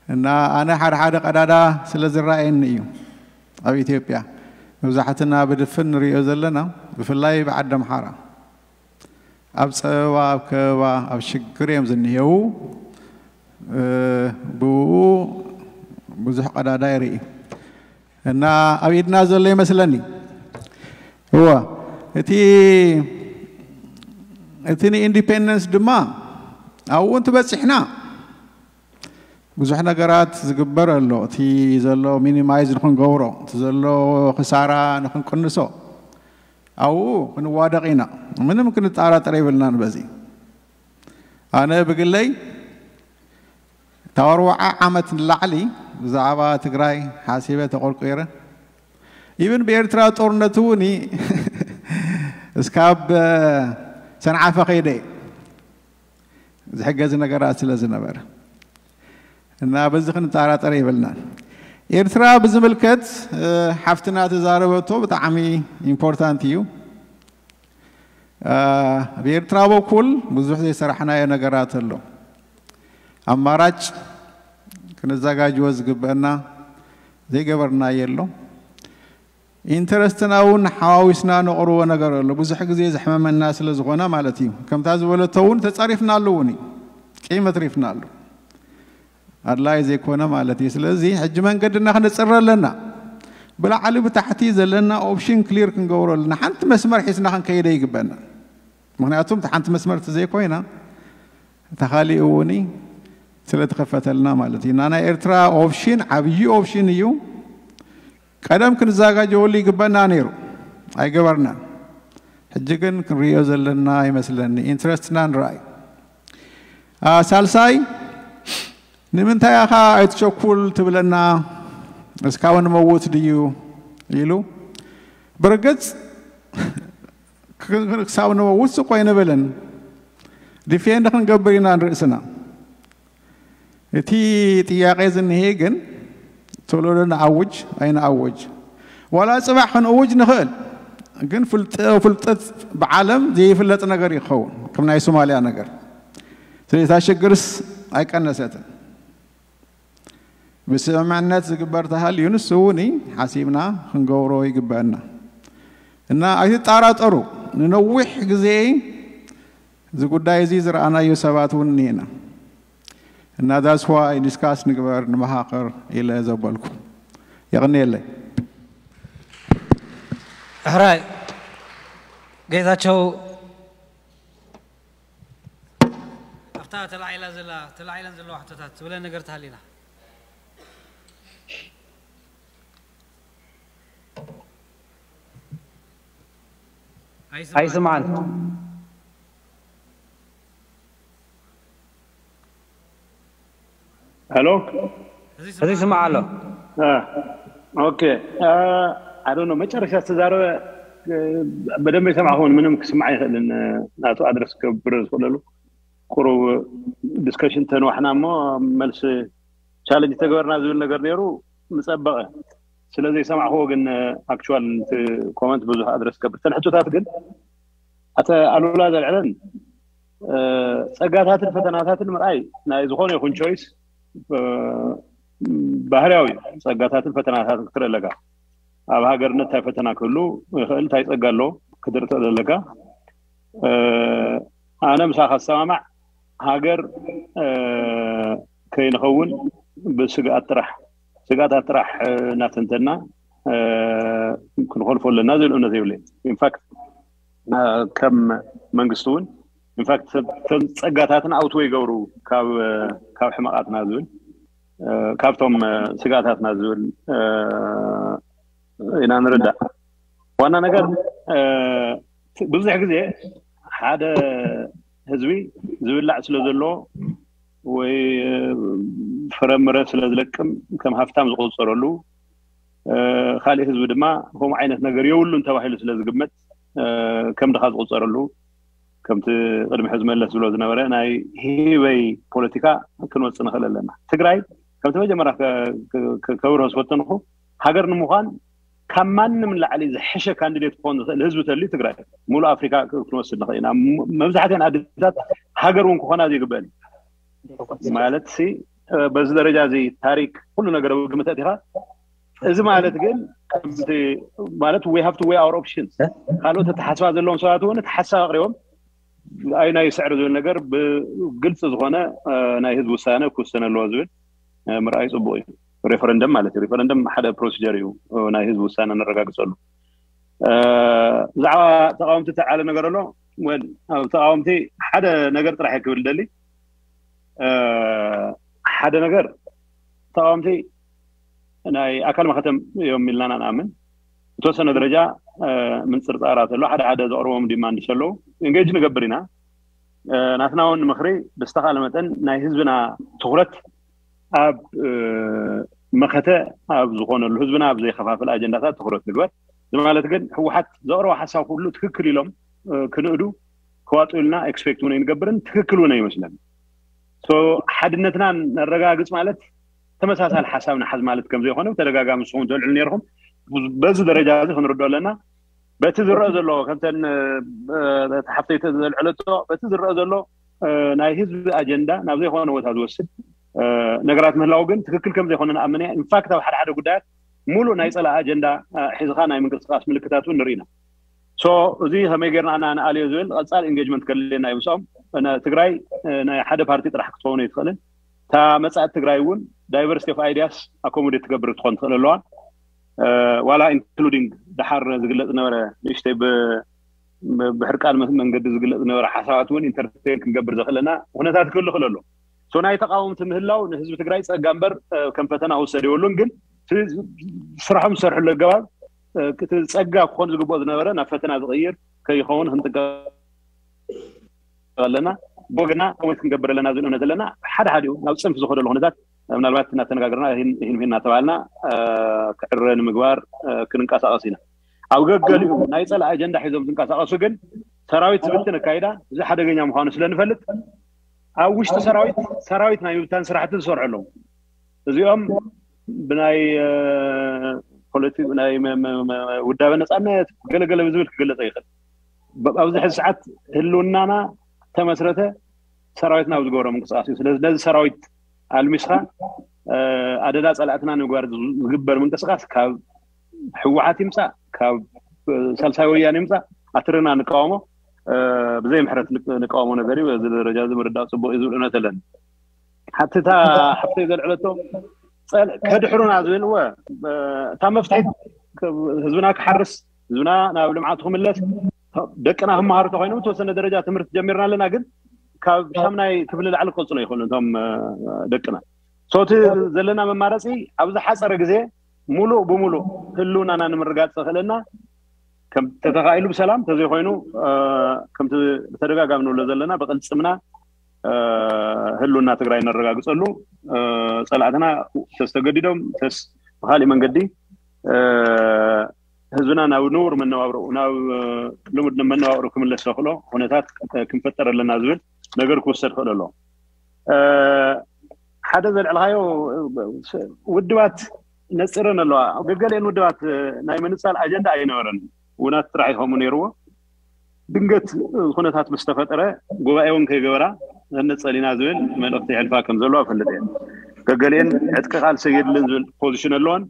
እና ኣነ ሓደ ሓደ ቀዳዳ ስለ ዝረኣየኒ እዩ። ኣብ ኢትዮጵያ መብዛሕትና ብድፍን ንሪኦ ዘለና፣ ብፍላይ ብዓዲ ኣምሓራ ኣብ ፀበባ ኣብ ከበባ ኣብ ሽግር እዮም ዝኒሄው። ብኡ ብዙሕ ቀዳዳ ይርኢ እና ኣብ ኢድና ዘሎ ይመስለኒ። እወ፣ እቲ እቲ ንኢንዲፔንደንስ ድማ ኣብኡ እንትበፂሕና ብዙሕ ነገራት ዝግበር ኣሎ። እቲ ዘሎ ሚኒማይዝ ንክንገብሮ፣ እቲ ዘሎ ክሳራ ንክንቅንሶ ኣብኡ ክንዋደቕ ኢና። ምንም ክንጠራጠር የብልናን በዚ። ኣነ ብግለይ ካብ ኣርባዓ ዓመት ንላዕሊ ብዛዕባ ትግራይ ሓሲበ ተቆርቂረ። ኢብን ብኤርትራ ጦርነት እውን እስካብ ሰንዓፈ ከይደ ዝሕገዝ ነገራት ስለ ዝነበረ እና በዚ ክንጠራጠር የብልናን። ኤርትራ ብዝምልከት ሓፍትና ተዛረበቶ ብጣዕሚ ኢምፖርታንት እዩ። ብኤርትራ በኩል ብዙሕ ዘይሰራሕናዮ ነገራት ኣሎ። ኣማራጭ ክንዘጋጅዎ ዝግበአና ዘይገበርናዮ ኣሎ። ኢንተረስትና እውን ሓዋዊስና ነቕርቦ ነገር ኣሎ። ብዙሕ ግዜ ዘሕመመና ስለ ዝኾነ ማለት እዩ። ከምታ ዝበለቶ እውን ተጻሪፍናሉ እውን እዩ። ቂም ኣትሪፍናሉ። ኣድላይ ዘይኮነ ማለት እዩ። ስለዚ ሕጂ መንገድና ክንጽረ ኣለና። ብላዕሊ ብታሕቲ ዘለና ኦፕሽን ክሊር ክንገብሮ ኣለና። ሓንቲ መስመር ሒዝና ክንከይደ ይግበና። ምክንያቱም ሓንቲ መስመር ዘይኮይና ተኻሊኡ እውን ስለ ተኸፈተልና ማለት እዩ። እና ናይ ኤርትራ ኦፕሽን ዓብዪ ኦፕሽን እዩ። ቀደም ክንዘጋጀወሉ ይግበና ነይሩ፣ ኣይገበርናን። ሕጂ ግን ክንሪኦ ዘለና ይመስለኒ ኢንትረስትና ንረኣይ። ሳልሳይ ንምንታይ ኢኻ ኣይትቸኩል ትብለና? እስካብ ንመውት ድዩ ኢሉ። ብርግጽ ክሳብ ንመውት ስቆ ኣይንብልን። ዲፌንድ ክንገብር ኢና ንርእስና። እቲ ጥያቄ ዝንሄ ግን ቶሎ ዶ ንኣውጅ ኣይንኣውጅ? ዋላ ጽባሕ ክንእውጅ ንኽእል፣ ግን ፍልጠት ብዓለም ዘይፍለጥ ነገር ይኸውን ከም ናይ ሶማልያ ነገር። ስለዚ እታ ሽግርስ ኣይቀነሰትን። ብስምምዕነት ዝግበር ተሃልዩ ንሱ እውን ሓሲብና ክንገብሮ ይግበአና እና ኣይትጠራጠሩ። ንነዊሕ ግዜ እዚ ጉዳይ እዚ ዝረኣናዮ ሰባት እውን እኒሄና እና that's why ዲስካስ ንግበር ንመሃኸር ኢለ ዘበልኩ። የቕንየለይ። ሕራይ ጌታቸው ኣብታ ተላዒላ ዘላ ተላዒለን ዘለዋ ሕቶታት ትብለ ነገር ተሃሊና ኣይስማዕን። ሄሎ፣ እዚ ስማዕ ኣሎ። ኦኬ። ኣይ ዶንት ኖ፣ መጨረሻ ዝተዛረበ በደንብ ኣይሰማዕኹን። ምንም ክስማዕ ኣይኽእልን። ናቱ ኣድረስ ክገብር ዝኽእለሉ ቁሩብ ዲስከሽን ተንዋሕና እሞ መልሲ ቻለንጅ ተገበርና ዝብል ነገር ነይሩ፣ ምጸበቐ። ስለ ዘይሰማዕኹዎ ግን ኣክቹዋል ኮመንት ብዙሕ ኣድረስ ክገብር። እተን ሕቶታት ግን ኣተ ኣሉላ ዘልዕለን ጸጋታትን ፈተናታትን ምርኣይ ናይ ዝኾነ ይኹን ቾይስ ባህርያዊ እዩ። ጸጋታትን ፈተናታትን ክትርኢ ኣለካ። ኣብ ሃገርነት እንታይ ፈተና ክህሉ ይኽእል፣ እንታይ ጸጋ ኣሎ ክትርኢ ትኽእል ኣለካ። ኣነ ምሳኻ ዝሰማማዕ ሃገር ከይንኸውን ብስግኣት ጥራሕ ስግኣታት ጥራሕ እናተንተና ክንኾልፎ ኣለና ዝብል እምነት የብለይ። ኢንፋክት ከም መንግስቲ እውን ኢንፋክት ቶም ጸጋታትን ኣውትወ ይገብሩ ካብ ካብ ሕመቓትና ዝብል ካብቶም ስግኣታትና ዝብል ኢና ንርዳእ። ዋና ነገር ብዙሕ ግዜ ሓደ ህዝቢ ዝብላዕ ስለ ዘለዎ ወይ ፍረምረ ስለ ዝለቅም ከም ሃፍታም ዝቆፀረሉ ካሊእ ህዝቢ ድማ ከምኡ ዓይነት ነገር የብሉን ተባሂሉ ስለ ዝግመት ከም ድኻ ዝቆፀረሉ ከምቲ ቅድሚ ሕዚ መለስ ዝብሎ ዝነበረ ናይ ሂበይ ፖለቲካ ክንወፅእ ንኽእል ኣለና። ትግራይ ከምቲ መጀመርያ ከብርሆ ዝፈተንኹ ሃገር ንምዃን ካብ ማንም ላዕሊ ዝሐሸ ካንዲዴት ክኾን ዝኽእል ህዝቢ ተልዩ ትግራይ ሙሉእ ኣፍሪካ ክንወስድ ንኽእል ኢና። መብዛሕትአን ኣዴታት ሃገር እውን ክኾና ዘይግበአን ማለት ሲ በዚ ደረጃ እዚ ታሪክ ኩሉ ነገር ኣብ ግምት ኣእቲኻ እዚ ማለት ግን ከምቲ ማለት we have to weigh our options ካልኦት ኣተሓስባ ዘለዎም ሰባት እውን እቲ ሓሳብ ኣቅሪቦም ኣይ ናይ ስዕር ዝብል ነገር ብግልፂ ዝኾነ ናይ ህዝቢ ውሳነ ክውሰነ ኣለዎ ዝብል ምርኣይ ፅቡቅ እዩ። ሬፈረንደም ማለት እዩ። ሬፈረንደም ሓደ ፕሮሲጀር እዩ ናይ ህዝቢ ውሳነ ነረጋግፀሉ። ብዛዕባ ተቃወምቲ ተዓለ ነገር ኣሎ። ተቃወምቲ ሓደ ነገር ጥራሕ ክብል ደሊ ሓደ ነገር ተቃወምቲ ናይ ኣካል መኸተም እዮም ኢልና ንኣምን። ብተወሰነ ደረጃ ምንፅርፃራት ኣሎ። ሓደ ሓደ ዘቕርቦም ዲማንድ ዘለዉ ኢንጌጅ ንገብር ኢና። ናትና እውን ምኽሪ ብዝተኻለ መጠን ናይ ህዝብና ትኩረት ኣብ መኸተ ኣብ ዝኾነሉ ህዝብና ኣብ ዘይከፋፍል ኣጀንዳታት ትኩረት ንግበር። እዚ ማለት ግን ህወሓት ዘቕረቦ ሓሳብ ኩሉ ትክክል ኢሎም ክንእዱ ክዋጡ ኢልና ኤክስፔክት እውን ኣይንገብርን። ትክክል እውን ኣይመስለን። ሓድነትና ነረጋግፅ ማለት ተመሳሳሊ ሓሳብ ንሓዝ ማለት ከም ዘይኮነ ብተደጋጋሚ ንስኹም ትልዕሉ ነርኩም። በዚ ደረጃ እዚ ክንርድኦ ኣለና። በቲ ዝረአ ዘሎ ከምተን ሓፍተይ ዘልዐለቶ በቲ ዝረአ ዘሎ ናይ ህዝቢ ኣጀንዳ ናብ ዘይኮነ ቦታ ዝወስድ ነገራት ምህላው ግን ትክክል ከም ዘይኮነ ንኣምን እያ። ኢንፋክት ኣብ ሓደ ሓደ ጉዳያት ሙሉእ ናይ ፀላእ ኣጀንዳ ሒዝካ ናይ ምንቅስቃስ ምልክታት እውን ንርኢ ኢና። እዚ ከመይ ጌርና ኢና ንኣልዮ ዝብል ቀፃል ኢንጌጅመንት ከድልየና እዩ ምስኦም። ትግራይ ናይ ሓደ ፓርቲ ጥራሕ ክትኸውን ኣይትኽእልን። እታ መፃእት ትግራይ እውን ዳይቨርሲቲ ኦፍ ኣይዲያስ ኣኮሞዴት ትገብር ክትኾን ትኽእል ኣለዋ። ዋላ ኢንክሉዲንግ ደሓር ዝግለፅ ነበረ ንእሽተይ ብሕርቃን መንገዲ ዝግለፅ ነበረ ሓሳባት እውን ኢንተርቴን ክንገብር ዘኽእለና ኩነታት ክህሉ ክእል ኣሎ። ናይ ተቃወምቲ ምህላው ንህዝቢ ትግራይ ፀጋ እምበር ከም ፈተና ክውሰድ የብሉን። ግን ስራሖም ዝሰርሕሉ ኣገባብ እቲ ፀጋ ክኾን ዝግብኦ ዝነበረ ናብ ፈተና ዝቕይር ከይኸውን ክንጥቀም ኣለና። ብወገና ከመይ ክንገብር ኣለና ዝብል እምነት ኣለና። ሓደ ሓዲኡ ናብ ፅንፍ ዝኸደሉ ኩነታት ምናልባት እናተነጋገርና ይህን ይህን እናተባሃልና ክዕረ ንምግባር ክንንቀሳቐስ ኢና። ኣብ ገገሊኡ ናይ ፀላእ ኣጀንዳ ሒዞም ዝንቀሳቐሱ ግን ሰራዊት ዝብትን ኣካይዳ እዚ ሓደገኛ ምዃኑ ስለ ንፈልጥ ኣብ ውሽጢ ሰራዊት ሰራዊት ናይ ምብታን ስራሕቲ ዝሰርሑ ኣለዉ። እዚኦም ብናይ ፖለቲ ናይ ውዳበ ነፃነት ገለገለ ብዝብል ክገለፀ ይኽእል። ኣብዚ ሕዚ ሰዓት ህልውናና ተመስረተ ሰራዊትና ኣብ ዝገብሮ ምንቅስቃስ እዩ። ስለዚ ነዚ ሰራዊት ኣልሚስካ ኣደዳ ፀላእትና ንምግባር ዝግበር ምንቅስቃስ ካብ ህወሓት ይምፃእ ካብ ሳልሳይ ወያነ ይምፃእ ኣትርና ንቃወሞ ብዘይ ምሕረት ንቃወሞ ነገር እዩ። በዚ ደረጃ እዚ ምርዳእ ፅቡቅ እዩ ዝብል እምነት ኣለኒ። ሓትታ ሓፍተይ ዘልዕለቶ ከድሕሩና ዝብል እወ እታ መፍትሒት ህዝብና ክሓርስ ህዝብና ናብ ልምዓቱ ክምለስ ደቅና ክመሃሩ ተኮይኖም ተወሰነ ደረጃ ትምህርቲ ጀሚርና ኣለና። ግን ካብ ሻምናይ ክፍሊ ላዕሊ ክቀፅሎ ይኽእሉ እቶም ደቅና ሶቲ ዘለና መማረፂ ኣብ ዝሓፀረ ግዜ ሙሉእ ብሙሉእ ህልውናና ንምርጋፅ ዘኽእለና ከም ተተኻኢሉ ብሰላም ተዘይኮይኑ ከምቲ ብተደጋጋሚ ንብሎ ዘለና ብቅልፅምና ህልውና ትግራይ ነረጋግፀሉ ፀላእትና ተስተገዲዶም ተስ ብካሊእ መንገዲ ህዝብና ናብ ንቡር መነባብሮ ናብ ልሙድ መነባብሮ ክምለስ ዘኽእሎ ኩነታት ክንፈጠር ኣለና ዝብል ነገር ክውሰድ ክእል ኣሎ። ሓደ ዘልዕልካዮ ውድባት ነፂረን ኣለዋ። ገገሊአን ውድባት ናይ ምንፃል ኣጀንዳ ኣይነበረን። ውናት ጥራሕ ይኸሙ ነይርዎ። ድንገት ኩነታት ምስ ተፈጠረ ጉባኤ እውን ከይገበራ ነፀሊና ዝብል መልእክቲ ይሕልፋ ከም ዘለዋ እፈልጥ እየ። ገገሊአን ዕጥቂ ቃልሲ የድልን ዝብል ፖዚሽን ኣለወን።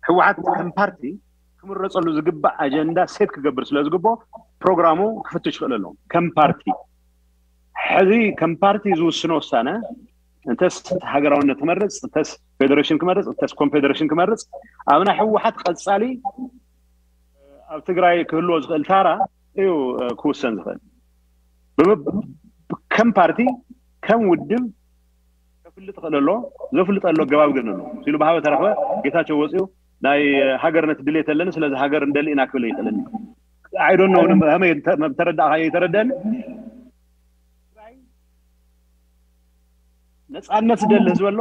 ህወሓት ከም ፓርቲ ክምረፀሉ ዝግባእ ኣጀንዳ ሴት ክገብር ስለ ዝግብኦ ፕሮግራሙ ክፍትሽ ይኽእል ኣሎ። ከም ፓርቲ ሕዚ ከም ፓርቲ ዝውስኖ ውሳነ እንተስ ሃገራውነት ክመርፅ እንተስ ፌደሬሽን ክመርፅ እንተስ ኮንፌደሬሽን ክመርፅ ኣብ ናይ ህወሓት ቀፃሊ ኣብ ትግራይ ክህልዎ ዝኽእል ታራ እዩ ክውሰን ዝኽእል። ከም ፓርቲ ከም ውድብ ከፍልጥ ክእል ኣሎ። ዘፍልጠሉ ኣገባብ ግን ኣሎ ኢሉ ብሃበ ተረኽበ ጌታቸው ወፂኡ ናይ ሃገርነት ድሌት ኣለኒ ስለዚ ሃገር እንደሊ ኢና ክብል ይኽእልኒ። I don't know ከመይ ተረዳእካ ይተረደኒ። ነፃነት ዝደሊ ህዝቢ ኣሎ፣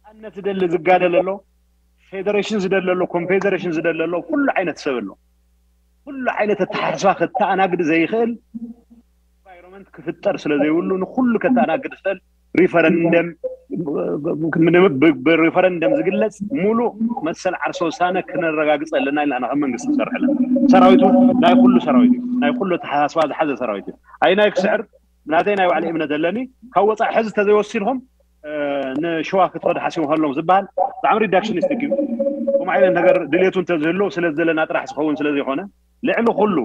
ነፃነት ዝደሊ ዝጋደል ኣሎ፣ ፌደሬሽን ዝደሊ ኣሎ፣ ኮንፌደሬሽን ዝደሊ ኣሎ፣ ኩሉ ዓይነት ሰብ ኣሎ። ኩሉ ዓይነት ኣተሓሳስባ ከተኣናግድ ዘይኽእል ኢንቫይሮንመንት ክፍጠር ስለ ዘይብሉ ንኩሉ ከተኣናግድ ዝኽእል ሪፈረንደም ብሪፈረንደም ዝግለፅ ሙሉእ መሰል ዓርሰ ውሳነ ክነረጋግፅ ኣለና ኢልና ከም መንግስቲ ንሰርሕ ኣለና። ሰራዊቱ ናይ ኩሉ ሰራዊት እዩ። ናይ ኩሉ ኣተሓሳስባ ዝሓዘ ሰራዊት እዩ። ኣይ ናይ ክስዕር ናተይ ናይ ባዕሊ እምነት ኣለኒ። ካብ ወፃኢ ሕዚ ተዘይወሲድኩም ንሸዋ ክትኸዱ ሓሲቡ ከሎም ዝበሃል ብጣዕሚ ሪዳክሽኒስቲክ እዩ። ከምኡ ዓይነት ነገር ድሌቱ እንተዝህሉ ስለ ዘለና ጥራሕ ዝኸውን ስለ ዘይኮነ ልዕሊ ኩሉ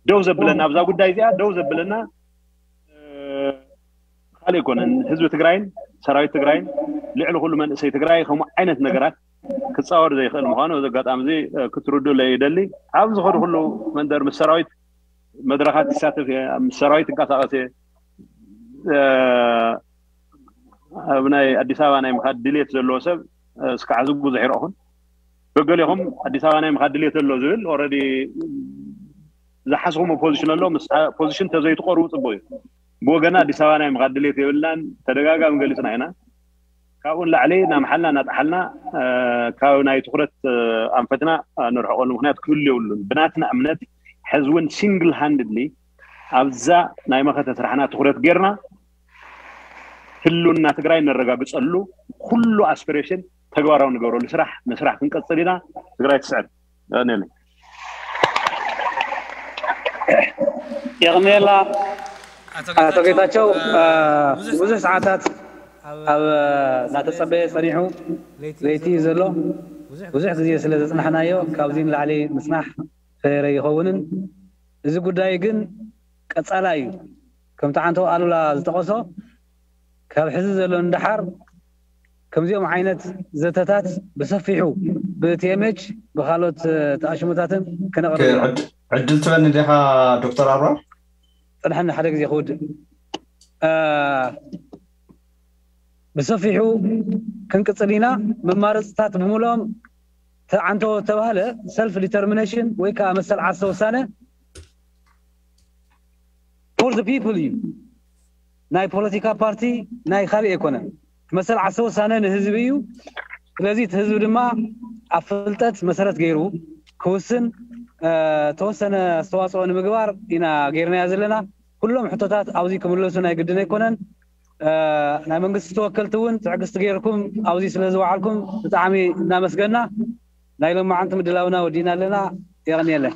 ደው ዘብለና ኣብዛ ጉዳይ እዚኣ ደው ዘብለና ካልእ ኣይኮነን። ህዝቢ ትግራይን ሰራዊት ትግራይን ልዕሊ ኩሉ መንእሰይ ትግራይ ከምኡ ዓይነት ነገራት ክፃወር ዘይኽእል ምዃኑ እዚ ኣጋጣሚ እዚ ክትርድኡለይ ይደሊ። ኣብ ዝኸዱ ኩሉ መንደር ምስ ሰራዊት መድረኻት ይሳተፍ እየ፣ ምስ ሰራዊት ትንቀሳቐስ እየ። ኣብ ናይ ኣዲስ ኣበባ ናይ ምኻድ ድሌት ዘለዎ ሰብ እስካዕ ሕዚ ብዙሕ ይረእኹን። ገገሌኹም ኣዲስ ኣበባ ናይ ምኻድ ድሌት ዘሎ ዝብል ኦረዲ ዝሓስኹም ፖዚሽን ኣሎ። ምስ ፖዚሽን ተዘይትቆርቡ ፅቡቅ እዩ። ብወገና ኣዲስ ኣበባ ናይ ምኻድ ድሌት የብልናን። ተደጋጋሚ ገሊፅና ኢና። ካብኡ ንላዕሊ እናመሓልና እናጠሓልና ካብ ናይ ትኩረት ኣንፈትና ንርሕቀሉ ምክንያት ክህሉ የብሉን። ብናትና እምነት ሕዚ እውን ሲንግል ሃንድሊ ኣብዛ ናይ መኸተ ስራሕና ትኩረት ጌርና ህልውና ትግራይ ነረጋግፀሉ ኩሉ ኣስፒሬሽን ተግባራዊ ንገብረሉ ስራሕ ምስራሕ ክንቀፅል ኢና። ትግራይ ትስዕር። ነኒ የቕንየላ ኣቶ ጌታቸው። ብዙሕ ሰዓታት ኣብ እናተፀበየ ፀኒሑ ለይቲ እዩ ዘሎ። ብዙሕ ግዜ ስለ ዘፅናሕናዮ ካብዚ ንላዕሊ ምፅናሕ ፈየረ ይኸውንን። እዚ ጉዳይ ግን ቀፃላይ እዩ። ከምቲ ዓንቶ ኣሉላ ዝጠቐሶ ካብ ሕዚ ዘሎ ንደሓር ከምዚኦም ዓይነት ዘተታት ብሰፊሑ ብቲኤምኤች ብካልኦት ተኣሽሙታትን ክነቕርብ ኢና። ዕድል ትበኒ ዲኻ ዶክተር ኣብራር? ፅንሐኒ ሓደ ግዜ ክውድእ ብሰፊሑ ክንቅፅል ኢና። መማረፅታት ብምልኦም ተዓንቶ ተባህለ ሰልፍ ዲተርሚኔሽን ወይ ከዓ መሰል ዓርሰ ውሳነ for the people እዩ። ናይ ፖለቲካ ፓርቲ ናይ ካልእ ኣይኮነን። መሰል ዓርሰ ውሳነ ንህዝቢ እዩ። ስለዚ እቲ ህዝቢ ድማ ኣብ ፍልጠት መሰረት ገይሩ ክውስን ተወሰነ ኣስተዋፅኦ ንምግባር ኢና ገይርናዮ ዘለና። ኩሎም ሕቶታት ኣብዚ ክምለሱ ናይ ግድን ኣይኮነን። ናይ መንግስቲ ተወከልቲ እውን ትዕግስቲ ገይርኩም ኣብዚ ስለ ዝወዓልኩም ብጣዕሚ እናመስገና ናይ ሎማዓንቲ ምድላውና ወዲእና ኣለና። የቐንየለን።